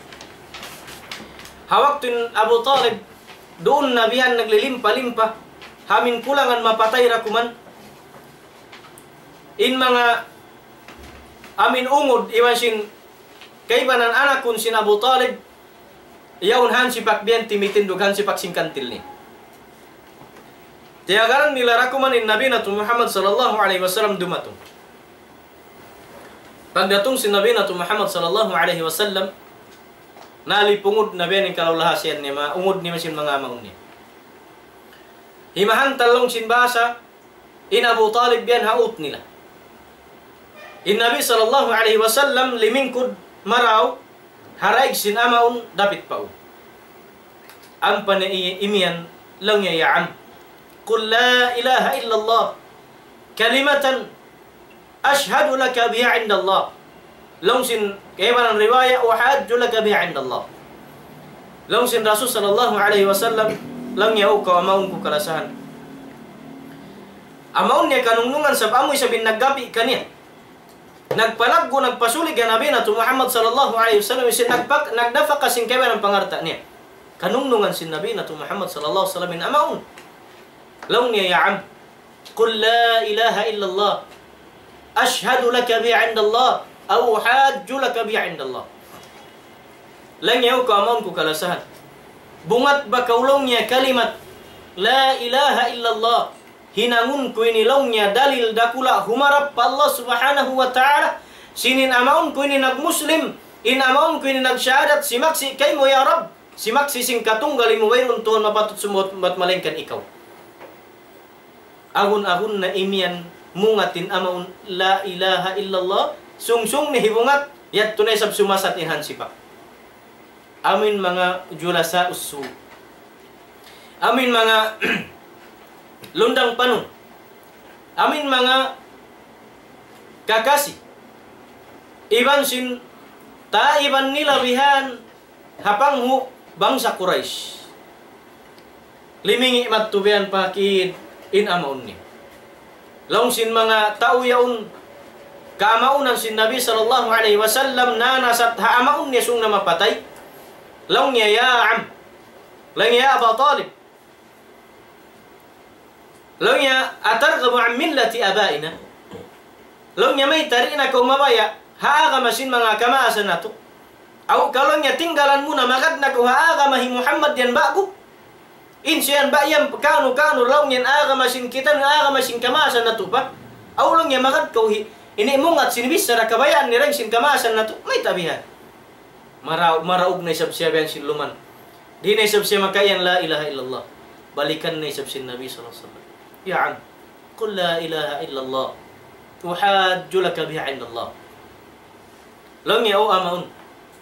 Ha waktu in Abu Talib, duun na bihan naglilimpa-limpa. Amin kulangan mapatay ra kuman. In manga amin ungud iban sin kaibanan anakun sin Abu Talib, yaun hansipak biyan timitindug hansipak sin kantil niya. Tiyagaran nila ra kuman in Nabi natu' Muhammad sallallahu alayhi wasallam dumatung. Pagdatung sin Nabi natu' Muhammad sallallahu alayhi wasallam, nalipungud na biyan in kalaulahasiyan niya, manga ungud niya iban sin manga amaun niya. Himahantal laung sin bahasa, in Abu Talib biyan ha ut nila. In Nabi sallallahu alayhi wasallam limingkud marayaw, ha daig sin amaun dapit pa u. Ampa niya i-, imiyan, laung niya, يا عم، قل لا إله إلا الله كلمة أشهد لك بها عند الله. Laung sin kaibanan riwaya, أحاج لك بها عند الله. Laung sin Rasul sallallahu alayhi wasallam, laung niya, "O kaw amaun ku kalasahan." Amaun niya kanungnungan sabab amu isab in naggapi' kaniya. Nagpalaggu', nagpasulig ha Nabi natu' Muhammad sallallahu alayhi wasallam, sin nagpak-, nagnapaka sin kaibanan pangalta' niya. Kanungnungan sin Nabi natu' Muhammad sallallahu alayhi wasallam in amaun. Laung niya, يا عم، قل لا إله إلا الله أشهد لك بها عند الله أو أحاج لك بها عند الله. Laung niya, "O kaw amaun ku kalasahan, bungat ba kaw," laung niya, "kalimat لا إله إلا الله, hinangun ku ini," laung niya, "dalil dakula' humarap pa Allah Subhanahu wa Ta'ala, sin in amaun ku ini nagmuslim, in amaun ku ini nagsahadat, simaksi' kaymu ya Rabb, simaksi' sin katunggal mu wayruun tuhan mapatut sumud bat malaingkan ikaw." Agun-agun na imiyan mungat in amaun لا إله إلا الله, sungsung niya hibungat, yadtu na isab sumasat in hansipak. Amin manga جلساء السوء. Amin manga lundang panun. Amin manga kakasi. Iban sin taiban nila bihan ha panghu' bangsa Quraysh. Limingi' madtu biyan pa kid in amaun niya. Laung sin manga tau yaun kaamaunan sin Nabi sallallahu alayhi wasallam nanasat ha amaun niya sung na mapatay. Laung niya, "يا عم," laung niya, "يا أبا طالب," laung niya, "أترغب عن ملة آبائنا؟" Laung niya, "Mayta' di' na kaw mabaya' ha agama sin manga kamaasan natu'? Aw ka," laung niya, "tinggalan mu na, magad na kaw ha agama hi Muhammad yan ba'gu? In siya yan ba yan kanu-kanu laung niya in agama sin kita, in agama sin kamaasan natu' pa? Aw," laung niya, "magad kaw hi, ini mungat sin bichara kabayaan niya dayn sin kamaasan natu'? Mayta' bihan?" Mara-, maraug na isab siya bihan sin luman. Di' na isab siya makaiyan لا إله إلا الله. Balikan na isab sin Nabi sallallahu alayhi wasallam, "يا عم، قل لا إله إلا الله أحاج لك بها عند الله." Laung niya, "O amaun,"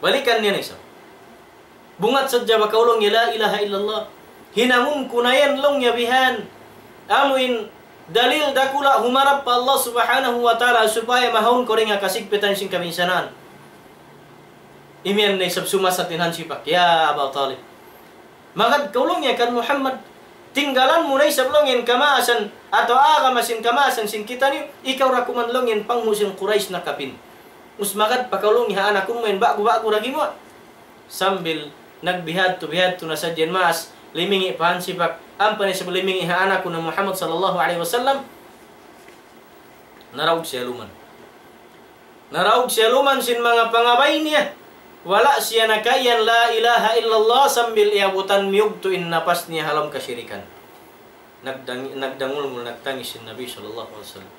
balikan niya na isab. "Bungat sadja ba kaw," laung niya, "لا إله إلا الله? Hinangun ku na yan," laung niya, "bihan. Amu in dalil dakula' humarap pa Allah Subhanahu wa Ta'ala supaya mahaun kaw dayn ha kasigpitan sin kabinsanaan." Imiyan na isab sumasat in hansipak, "Ya Aba Talib, magad kaw," laung niya, "kan Muhammad. Tinggalan mu na isab," laung niya, "in kamaasan atawa agama sin kamaasan sin kitaniyu. Ikaw ra kuman," laung niya, "in panghu' sin Quraysh na kapin. Ubus magad pa kaw," laung niya, "ha anakun mu yan ba'gu-ba'gu ra gimuwa'." Sambil nagbihadtu-bihadtu na sadja in maas, limingi' pa hansipak, ampa na isab limingi' ha anakun na Muhammad sallallahu alayhi wasallam, naraug siya luman. Naraug siya luman sin manga pangabay niya. Wala' siya nakaiyan لا إله إلا الله sambil iyabutan miyugtu' in napas niya ha lawm kasirikan. Nagdang-, nagdangulngul, nagtangis in Nabi sallallahu alayhi wasallam.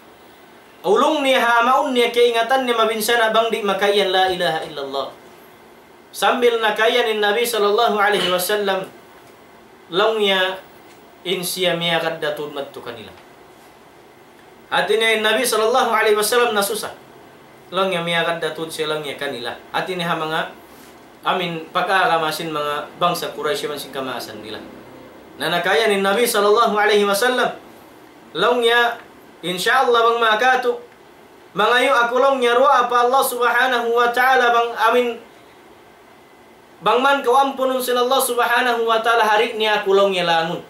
Ulung niya ha amaun niya, kaingatan niya mabinsana' bang di' makaiyan لا إله إلا الله. Sambil nakaiyan in Nabi sallallahu alayhi wasallam, laung niya in siya miyagad da tuud madtu kanila. Hati niya in Nabi sallallahu alayhi wasallam nasusa. Laung niya miyagad da tuud siya laung niya kanila. Hati niya ha manga amin pag-agama sin manga bangsa Quraysh iban sin kamaasan nila. Na nakaiyan in Nabi sallallahu alayhi wasallam, laung niya, "Insya Allah bang makatu', mangayu' aku," laung niya, "duwaa pa Allah Subhanahu wa Ta'ala bang amin bang man kaw ampunun sin Allah Subhanahu wa Ta'ala, hari niya aku," laung niya, "langun."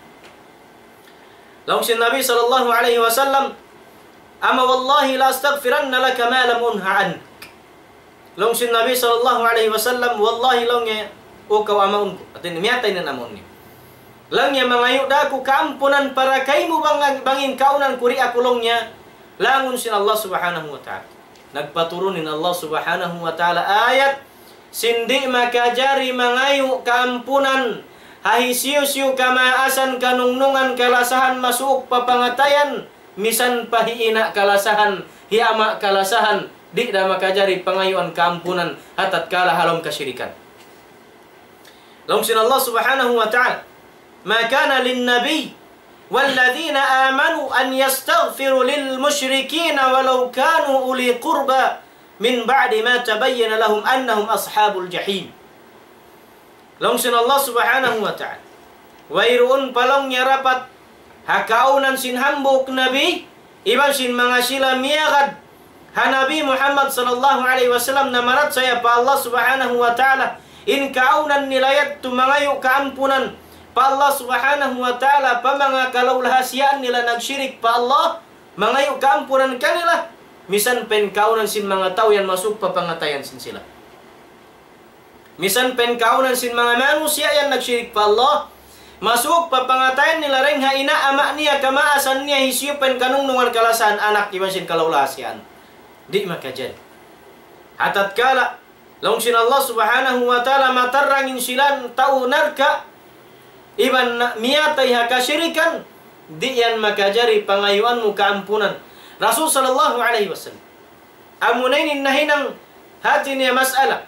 Laung sin Nabi sallallahu alayhi wasallam, "أما والله لأستغفرن لك ما لم أنه عنك." Laung sin Nabi sallallahu alayhi wasallam, "Wallahi," laung niya, "O kaw amaun ku." Hati niya miyatay na in amaun niya. Laung niya mangayu' da aku kaampunan para kaymu bang, bang in kaunan ku di' aku laung niya langun sin Allah Subhanahu wa Ta'ala. Nagpaturun in Allah Subhanahu wa Ta'ala ayat, sin di' makajari mangayu' kaampunan ha hisiyu-siyu kamaasan, kanungnungan, kalasahan masuuk pa pangatayan, misan pa hi ina' kalasahan, hi ama' kalasahan, di' da makajari pangayuan kaampunan ha tatkala ha lawm kasirikan. Laung sin Allah Subhanahu wa Ta'ala, ما كان للنبي والذين آمنوا أن يستغفروا للمشركين ولو كانوا أولي قربى من بعد ما تبين لهم أنهم أصحاب الجحيم. Laung sin Allah Subhanahu wa Ta'ala, wayruun pa laung niya dapat ha kaunan sin hambuuk nabi, iban sin manga sila miyagad ha Nabi Muhammad sallallahu alayhi wasallam, namarachaya pa Allah Subhanahu wa Ta'ala, in kaunan nila yadtu mangayu' kaampunan pa Allah Subhanahu wa Ta'ala pa manga kalaulahasiyaan nila nagshirik pa Allah, mangayu' kaampunan kanila, misan pa in kaunan sin manga tau yan masuuk pa pangatayan sin sila. Misan pa in kaunan sin manga manusiya' yan nagshirik pa Allah, masuuk pa pangatayan nila dayng ha ina' ama' niya, kamaasan niya, hisiyu pa in kanungnungan, kalasahan, anak, iban sin kalaulahasiyaan. Di' makajari. Ha tatkala laung sin Allah Subhanahu wa Ta'ala matarrang in sila tau narka', iban na-, miyatay ha kashirikan, di' yan makajari pangayuan mu kaampunan. Rasul sallallahu alayhi wasallam, amuna ini in nahinang hati niya mas'ala.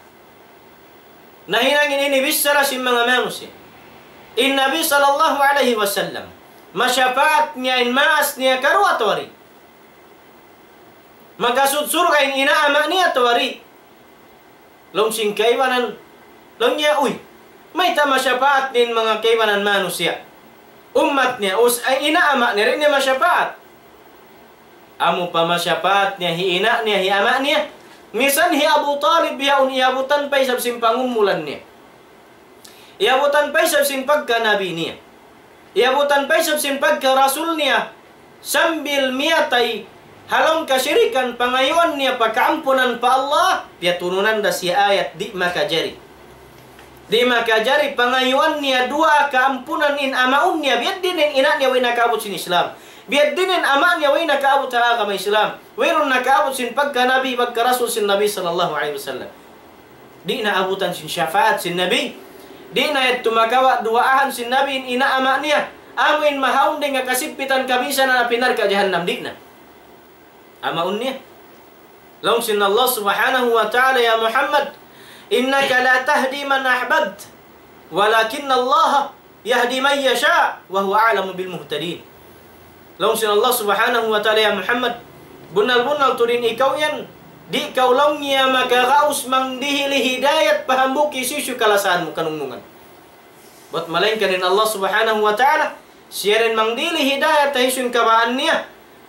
Nahinang in ini bichara sin manga manusiya'. In Nabi sallallahu alayhi wasallam, masapaat niya in maas niya karuwa atawa di'? Makasud surga' in ina' ama' niya atawa di'? Laung sin kaibanan, laung niya, uy, mayta' masapaat niya in manga kaibanan manusiya'? Ummat niya, us-, ay, ina' ama' niya, di' niya masapaat. Amu pa masapaat niya hi ina' niya, hi ama' niya. Misan hi Abu Talib yaun, iyabutan pa isab sin pangumulan niya. Iyabutan pa isab sin pagka nabi niya. Iyabutan pa isab sin pagka rasul niya. Sambil miyatay ha lawm kashirikan, pangayuan niya pa kaampunan pa Allah, piyaturunan da siya ayat, di' makajari. Di' makajari pangayuan niya duwaa kaampunan in amaun niya, biya' diin in ina' niya way nakaabut sin Islam. Biya' diin in ama' niya way nakaabut ha agama Islam. Wayruun nakaabut sin pagka nabi, pagka rasul sin Nabi sallallahu alayhi wasallam. Di' na abutan sin shafaat sin Nabi. Di' na yadtu makawa' duwaahan sin Nabi in ina' ama' niya. Amu in mahaun dayn ha kasigpitan kabinsanaan api narka' jahannam, di' na. Amaun niya. Laung sin Allah Subhanahu wa Ta'ala, يا محمد إنك لا تهدي من أحببت ولكن الله يهدي من يشاء وهو أعلم بالمهتدين. Laung sin Allah Subhanahu wa Ta'ala, ya Muhammad, bunnal-bunnal tuud in ikaw yan, di' kaw laung niya makagaus mangdihil hidayat pa hambuuk hisiyu-siyu kalasahan mu kanungnungan. Bat malaingkan in Allah Subhanahu wa Ta'ala, siya da in mangdihil hidayat ha hisiyu in kabaan niya.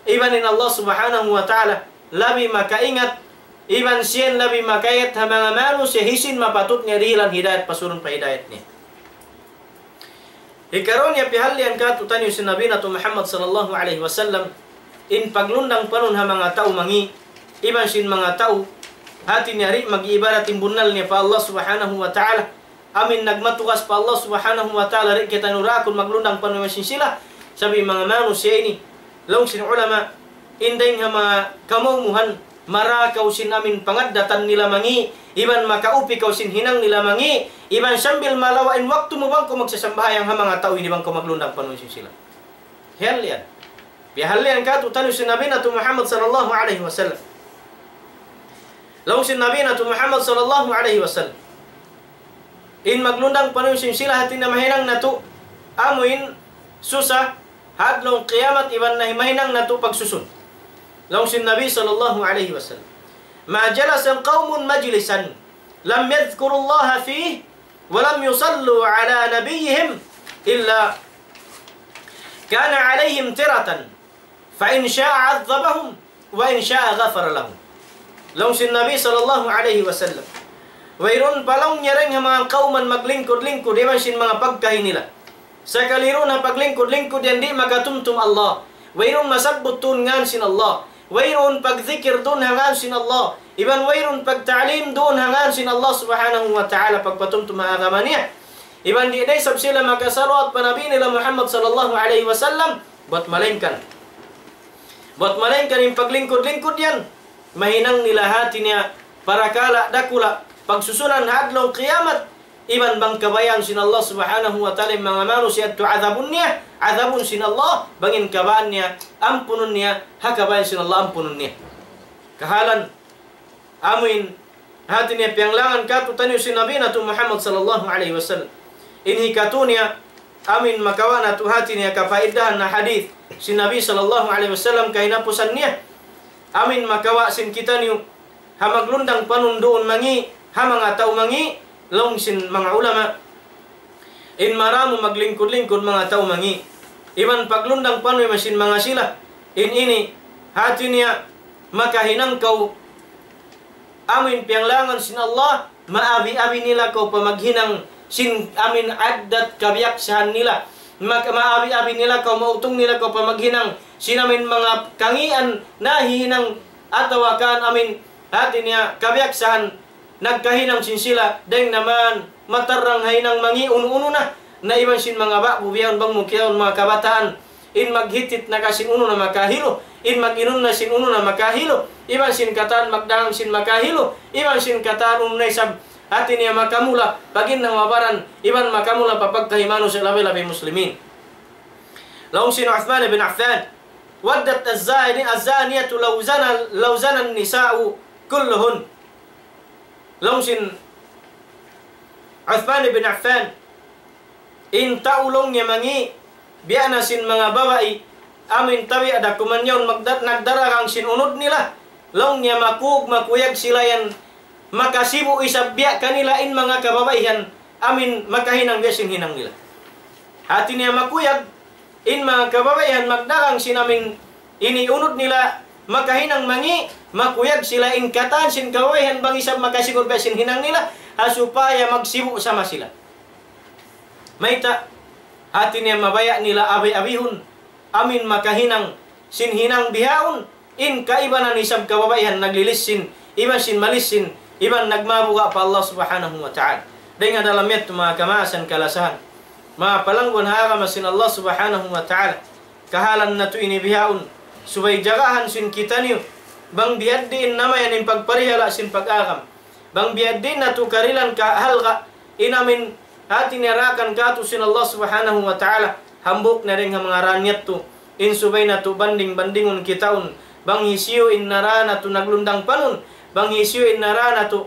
Iban in Allah Subhanahu wa Ta'ala labi makaingat, iban siya in labi makaingat ha manga manusiya' hisiyu in mapatut niya dihilan hidayat, pasurun pa hidayat niya. Hikaruwa niya, piyahalian kātu'niyu sin Nabi natu' Muhammad sallallahu alayhi wasallam, in paglundang panun ha manga tau mangi', iban sin manga tau hati niya di' mag-iibadat in bunnal niya pa Allah Subhanahu wa Ta'ala. Amu in nagmatugas pa Allah Subhanahu wa Ta'ala, di' kitaniyu daakan maglundang panun iban sin sila. Sabab in manga manusiya' ini, laung sin ulama, in dayng ha manga kamaumuhan, mara kaw sin amu in pangaddatan nila mangi', iban makaupi kaw sin hinang nila mangi', iban sambil malawa' in waktu mu bang kaw magsasambahayang ha manga tau ini bang kaw maglundang panun sin sila. Hiyalian. Piyahalian kātu'niyu sin Nabi natu' Muhammad sallallahu alayhi wasallam. Laung sin Nabi natu' Muhammad sallallahu alayhi wasallam, in maglundang panun sin sila hati niya mahinang natu' amu in susa ha adlaw qiyamat iban na mahinang natu' pagsusun. Laung sin Nabi sallallahu alayhi wasallam, ما جلس قوم مجلسا لم يذكروا الله فيه ولم يصلوا على نبيهم إلا كان عليهم ترة فإن شاء عذبهم وإن شاء غفر لهم. Laung sin Nabi sallallahu alayhi wasallam, wayruun pa laung niya dayng ha manga kawman maglingkud-lingkud iban sin manga pagkahi nila. Sakali duun ha paglingkud-lingkud yan di' makatumtum Allah. Wayruun masabbut duun ngān sin Allah. Wayruun pagzikir duun ha ngān sin Allah. Iban wayruun pagta'lim duun ha ngān sin Allah Subhanahu wa Ta'ala, pagpatumtum ha agama niya. Iban di' da isab sila makasalawat pa Nabi nila Muhammad sallallahu alayhi wasallam, bat malaingkan. Bat malaingkan in paglingkud-lingkud yan, mahinang nila hati niya parakala' dakula', pagsusulan ha adlaw kiyamat, iban bang kabayaan sin Allah subhanahu wa ta'ala in manga manusiya' yadtu adabun niya, adabun sin Allah, bang in kabayaan niya, ampunun niya, ha kabayaan sin Allah, ampunun niya. Kahalan, amuin, hati niya piyanglangan kātu'niyu sin Nabi natu' Muhammad sallallahu alayhi wasallam. In hikatu niya, amuin makawa' natu' hati niya kapaidahan na hadith sin Nabi sallallahu alayhi wasallam kahinapusan niya. Amuin makawa' sin kitaniyu, ha maglundang panun duun mangi', ha manga tau mangi', laung sin manga ulama. In maramu maglingkud-lingkud manga tau mangi'. Iban paglundang panun masin manga sila. In ini, hati niya, makahinang kaw amuin piyanglangan sin Allah, maabi-abi nila kaw pa maghinang sin amuin addat kabiyaksahan nila. Mag-, maabi-abi nila kaw, mautung nila kaw pa maghinang sin amuin manga kangian nahihinang atawa kan amuin hati niya kabiyaksahan nagkahinang sin sila, dayng naman matarrang ha hinang mangi' unu-unu na, na iban sin manga ba'gu biyaun bang mu kiyaun manga kabataan, in maghitit na ka sin unu na makahilu, in mag-inum na sin unu na makahilu, iban sin katan magdagang sin makahilu, iban sin katan unu na isab hati niya makamula, pag-in na mabaran, iban makamula pa pagkahi manusiya' labi-labi muslimin. Laung sin Uthman bin Affan, ودت الزاني، الزانية لو زنى، لو زنى النساء كلهن. Laung sin Uthman bin Affan, in tau laung niya mangi', biya' na sin manga babai, amuin tabiya' da kuman yaun magda-, nagdaragang sin unud nila, laung niya makug-, makuyag sila yan, makasibu' isab biya' kanila in manga kababaihan, amuin makahinang biya' sin hinang nila. Hati niya makuyag, in manga kababaihan magdagang sin amuin ini unud nila makahinang mangi', makuyag sila in katan sin kababaihan bang isab makasigur biya' sin hinang nila, ha supaya magsibu' sama sila. Mayta', hati niya mabaya' nila abi-abihun, amuin makahinang sin hinang bihaun, in kaibanan isab kababaihan naglilissin, iban sin malissin, iban nagmabuga' pa Allah subhanahu wa ta'ala. Dayng ha dalam yadtu manga kamaasan kalasahan, manga palangguan ha agama sin Allah subhanahu wa ta'ala. Kahalan natu' ini bihaun, subay jagahan sin kitaniyu, bang biya' diin namayan in pagparihala' sin pag-agam. Bang biya' diin natu' karihilan kahalga' in amuin hati niya daakan kātu' sin Allah subhanahu wa ta'ala, hambuuk na dayng ha manga daan yadtu, in subay natu' banding-bandingun kitaun, bang hisiyu in nara natu' naglundang panun, bang hisiyu in nara natu'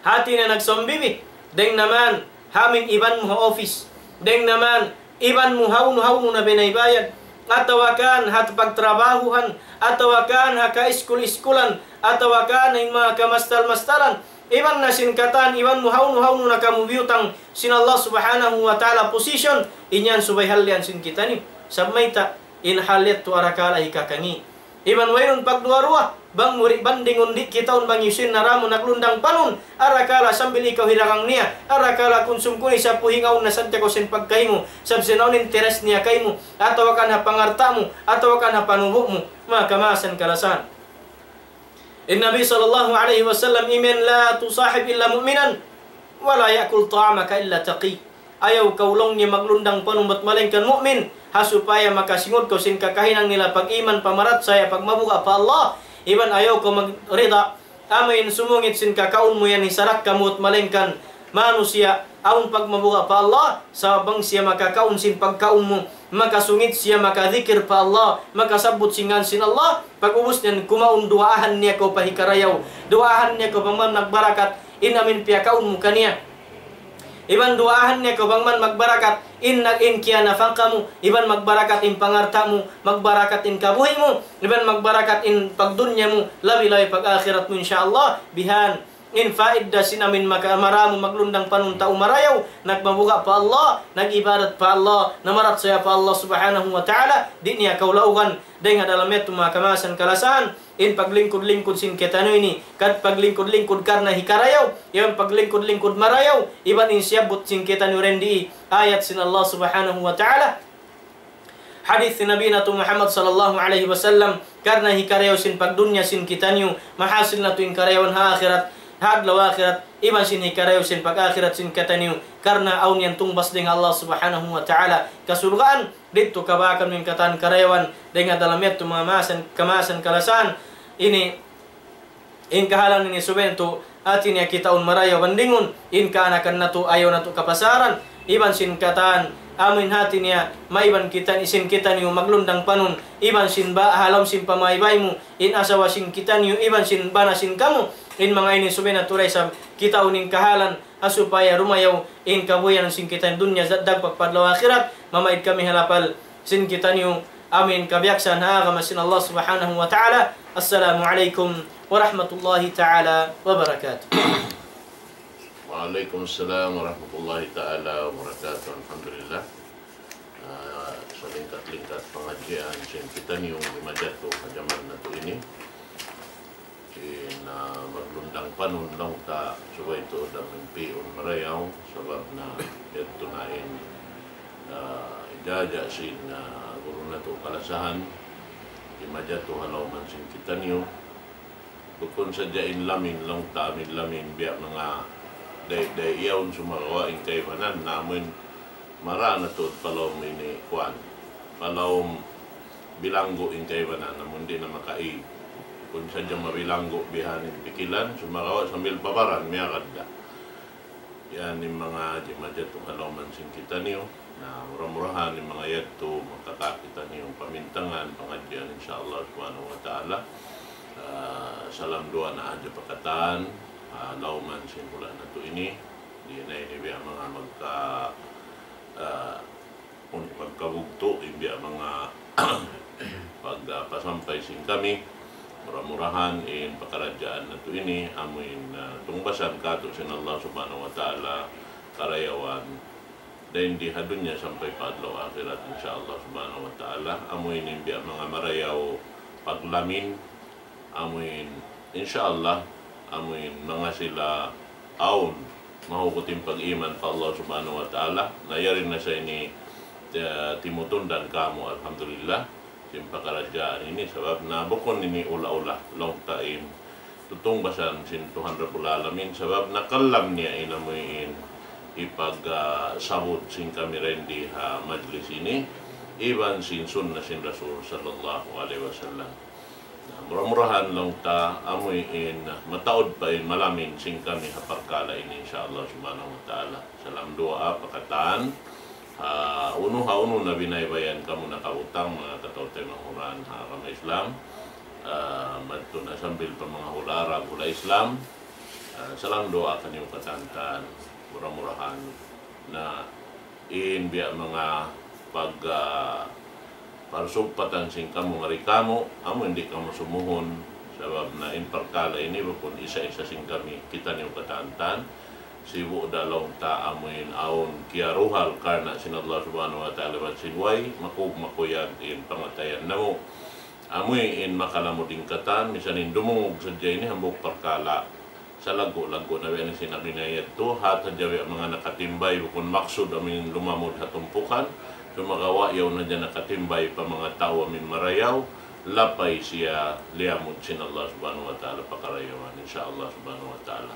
hati niya nagsambibi, dayng naman, ha amuin iban mu ha office, dayng naman, iban mu hawnu-hawnu na binaybayan, atawa kan ha pagtrabahuhan, atawa kan ha kaiskul-iskulan, atawa kan ha manga kamastal-mastalan, iban na sin katan, iban mu hawnu-hawnu na kamu biyutang sin Allah subhanahu wa ta'ala position, in yan subay hallian sin kitaniyu. Sabab mayta', in hal yadtu arakala' hikakangi'. Iban wayruun pagduwa-ruwa, bang mu di' bandingun di' kitaun bang hisiyu in nara mu naglundang panun, arakala' sambil ikaw hidagang niya, arakala' kunsum-kunsum puhingaun na sadja kaw sin pagkahi mu, sabab sin awn interes niya kaymu, atawa kan ha pangalta' mu, atawa kan ha panubu' mu, manga kamaasan kalasahan. In Nabi sallallahu alayhi wasallam imiyan, لا تصاحب إلا مؤمنا ولا يأكل طعامك إلا تقي. Ayaw kaw laung niya maglundang panun bat malaingkan mu'min, ha supaya makasingud kaw sin kakahinang nila pag-iman, pamarachaya, pagmabuga' pa Allah, iban ayaw kaw magrida, amuin sumungit sin kakaun mu yan hisarak kamu bat malaingkan manusiya' awn pagmabuga' pa Allah, sabab bang siya makakaun sin pagkaun mu, makasungit siya, makadikir pa Allah, makasabbut sin ngan sin Allah, pag-ubus niyan kumaun duwaahan niya kaw pa hikarayaw, duwaahan niya kaw bang man magbarakat in amuin piyakaun mu kaniya. Iban duwaahan niya kaw bang man magbarakat in nag-, in kiyanapaka mu, iban magbarakat in pangalta' mu, magbarakat in kabuhi' mu, iban magbarakat in pagdunya mu, labi-labi pag-akhirat mu, insya Allah. Bihan in faida sin amuin maka-, maramu maglundang panun tau marayaw, nagmabuga' pa Allah, nag-ibadat pa Allah, namarachaya pa Allah subhanahu wa ta'ala, di' niya kaw laugan, dayng ha dalam yadtu manga kamaasan kalasahan, in paglingkud-lingkud sin kitaniyu ini, kad paglingkud-lingkud karna' hikarayaw, iban paglingkud-lingkud marayaw, iban in siyabbut sin kitaniyu dindi, ayat sin Allah subhanahu wa ta'ala, hadith sin Nabi natu' Muhammad sallallahu alayhi wasallam, karna' hikarayaw sin pagdunya sin kitaniyu, mahasil natu' in karayawan ha akhirat, ha adlaw akhirat, iban sin hikarayaw sin pag-akhirat sin kitaniyu, karna' awn yan tungbas dayn ha Allah Subhanahu wa Ta'ala kasurgaan, didtu kabakan mu in katan karayawan dayn ha dalam yadtu manga maasan, kamaasan kalasahan. Ini, in kahalan ini subay natu', hati niya kitaun marayaw bandingun, in kaanakan natu' ayaw natu' kapasaran, iban sin katan, amuin hati niya, maiban kita, sin kitaniyu maglundang panun, iban sin ba, ha lawm sin pamaybay mu, in asawa sin kitaniyu, iban sin bana sin kamu, in manga ini subay natu' da isab kitaun in kahalan, ha supaya rumayaw in kabuhianan sin kitaniyu dunya, dagpak pa adlaw akhirat, mamaid kami ha lapal sin kitaniyu, amuin kabiyaksahan ha agama sin Allah Subhanahu wa Ta'ala. Assalamu alaykum warahmatullahi ta'ala wabarakatuh. وعليكم السلام ورحمة الله تعالى وبركاته. Alhamdulillah. Ah, salingkat-lingkat pangadjian sin kitaniyu di' majatu ha jaman natu' ini. Sin, ah, maglundang panun laung ta subay tuud da mimpiun marayaw, sabab na yadtu na in, ah, ijaja sin, ah, guru natu' kalasahan, di' majatu ha lawman sin kitaniyu. Bukun sadja in lamin, laung ta amin lamin, biya' manga day-day yaun sumagawa' in kaibanan, na amuin mara na tuud pa lawm ini kuwan, pa lawm bilanggu' in kaibanan, amun di' na makaig. Bukun sadja mabilanggu' bihan in pikilan, sumagawa' sambil pa baran, miyagad da. Yan in manga di' majatu ha lawman sin kitaniyu. Na mura-murahan in manga yadtu makakita' kitaniyu pamintangan, pangadjian, insya Allah Subhanahu wa Ta'ala. Ah, salam duwaa na hadja pa katan, ah, lawman sin hula' natu' ini. Di' na ini biya' manga magka, ah, unu, magkabugtu' in biya' manga pag, ah, pasampay sin kami. Mura-murahan in pakaradjaan natu' ini, amuin, ah, tungbasan katu' sin Allah Subhanahu wa Ta'ala karayawan dayn di ha dunya sampay pa adlaw akhirat, insya Allah Subhanahu wa Ta'ala. Amuin in biya' manga marayaw paglamin, amuin, insya Allah, amuin manga sila awn mahugut in pag-iman pa Allah Subhanahu wa Ta'ala. Na yari na sa ini, eh, timutundan kamu, alhamdulillah, sin pakaradjaan ini, sabab na bukun ini ula-ula, laung ta in tutungbasan sin Tuhan Rabbul Alamin, sabab na kalam niya in amuin ipag, ah, sabut sin kami dayn di ha majlis ini, iban sin sunnah sin Rasul sallallahu alayhi wasallam. Na, mura-murahan laung ta amuin mataud pa in malamin sin kami ha parkala' ini, insya Allah Subhanahu wa Ta'ala. Salam duwaa pa katan, ha unu ha unu na binaybayan kamu nakabutang, manga kataw-taymanghuran ha agama Islam, ah, madtu na sambil pa manga hula' Arab, hula' Islam. Ah, salam duwaa kaniyu katantan, mura-murahan na in biya' manga pag, ah, parsugpatan sin kamu ngari kamu, amu di' kamu sumuhun, sabab na in parkala' ini bukun isa-isa sin kami, kitaniyu katantan, sibu' da laung ta amuin awn kiyaruhal karna' sin Allah Subhanahu wa Ta'ala bat sin way, makug-, makuyag in pangatayan namu'. Amuin makalamud in katan, misan in dumungug sadja ini hambuuk parkala'. Salaggu'-laggu' na biya' na sin abinayad tu, hat hadja biya' manga nakatimbay, bukun maksud amuin lumamud ha tumpukan, sumagawa' yaun hadja nakatimbay pa manga tau amuin marayaw, lapay siya liyamud sin Allah Subhanahu wa Ta'ala pa karayawan, insya Allah Subhanahu wa Ta'ala.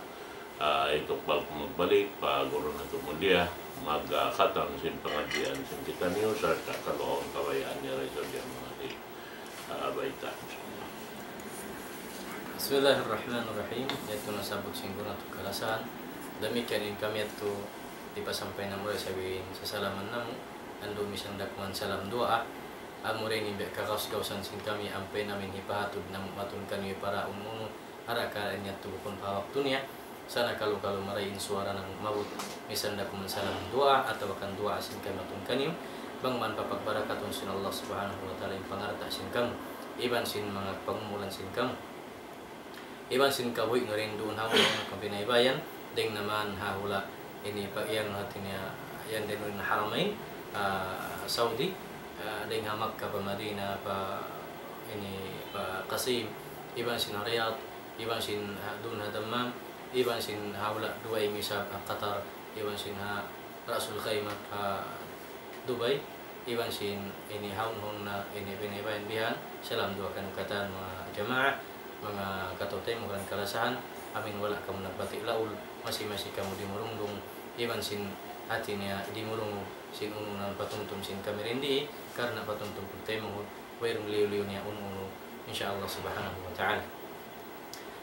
Ah, itukbal ku magbalik pa guru natu' mulia, magkhatam sin pangadjian sin kitaniyu, sarta' kalu awn kabayaan niya ray sa biya' manga di, ah, bayta'. Bismillahirrahmanirrahim. Yadtu nasabbut sin guru natu' kalasahan. Damikkiyan in kami yadtu hipasampay namu' da isab in sasalaman namu'. Andu' misan da kuman salam duwaa. Amura ini biya' kagaus-gausan sin kami, ampa in amin hipahatud namu' matun kaniyu para unu-unu. Arakala' in yadtu bukun pa waktu niya, sa' na kalu-kalu marayaw in suwara namu' maabut, misan da kuman salam duwaa atawa kan duwaa sin kami matun kaniyu, bang man papagbarakatun sin Allah Subhanahu wa Ta'ala in pangalta' sin kamu, iban sin manga pangumulan sin kamu, iban sin kabuhi' niyu duun ha manga kabinaybayan, dayn naman ha hula' ini pa yan hati niya, yan dayn ha Haramain, ah, Saudi, ah, dayn ha Makkah pa Madinah, pa ini, pa Qasim, iban sin Riyadh, iban sin ha, duun ha Dammam, iban sin ha hula' Dubai, misab ha Qatar, iban sin ha Ra'sul Khaimah ha Dubai, iban sin ini haun-haun na ini binaybay bihan, salam duwaa kaniyu katan manga jamaa, manga kataw-taymanghuran kalasahan, amin wala' kamu nagbati' laul, masi-masi kamu dimurungdung, iban sin hati niya dimurungug sin unu-unu na patumtum sin kami dindi, karna' patumtum pagtaymanghud, wayruun liyu-liyu niya unu-unu, insya Allah subhanahu wa ta'ala.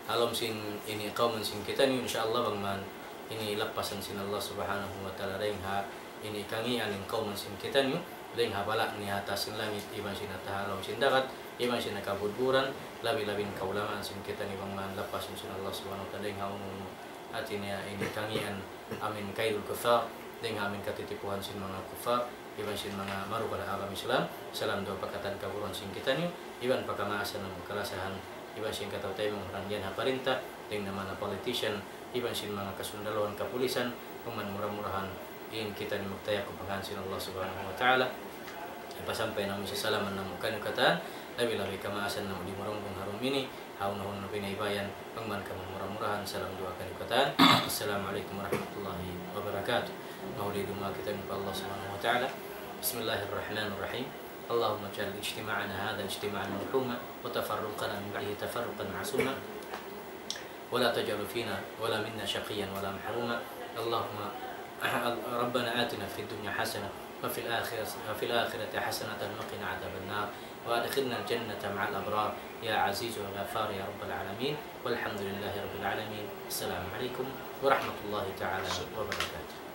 Ha lawm sin ini kawman sin kitaniyu, insya Allah bang man ini lappasan sin Allah subhanahu wa ta'ala dayng ha ini kangīan in kawman sin kitaniyu, dayng ha bala' niya ha taas sin langit, iban sin ha taha lawm sin dagat, iban sin ha kabudburan, labi-labi in kaulamaan sin kitaniyu bang man lappasan sin Allah subhanahu wa ta'ala dayng ha unu-unu hati niya ini kangīan amin kaidul kuffar, dayng ha amin katitipuhan sin manga kuffar, iban sin manga marugal ha agama Islam, salam duwaa pa katan kaguruhan sin kitaniyu, iban pa kamaasan namu' kalasahan, iban sin kataw-taymanghuran yan ha parinta, dayng ha manga politician, iban sin manga kasundaluhan kapulisan, bang man mura-murahan, in kitaniyu magtayakkub pa ngān sin Allah subhanahu wa ta'ala, pasampay namu' in sasalaman namu' kaniyu katan, labi-labi kamaasan namu' dimurungdung ha dum ini, ha unu-unu na pinaibayan, bang man kamu mura-murahan, salam duwaa kaniyu katan. Assalamu alaykum warahmatullahi wabarakatuh. Mahuli duwaa kitaniyu pa Allah subhanahu wa ta'ala. بسم الله الرحمن الرحيم. اللهم اجعل اجتماعنا هذا اجتماعا مرحوما، وتفرقنا من بعده تفرقا معصوما، ولا تجعل فينا ولا منا شقيا ولا محروما. اللهم ربنا آتنا في الدنيا حسنة وفي الآخرة، وفي الآخرة حسنة وقنا عذاب النار، وأدخلنا الجنة مع الأبرار يا عزيز يا غفار يا رب العالمين. والحمد لله رب العالمين. السلام عليكم ورحمة الله تعالى وبركاته.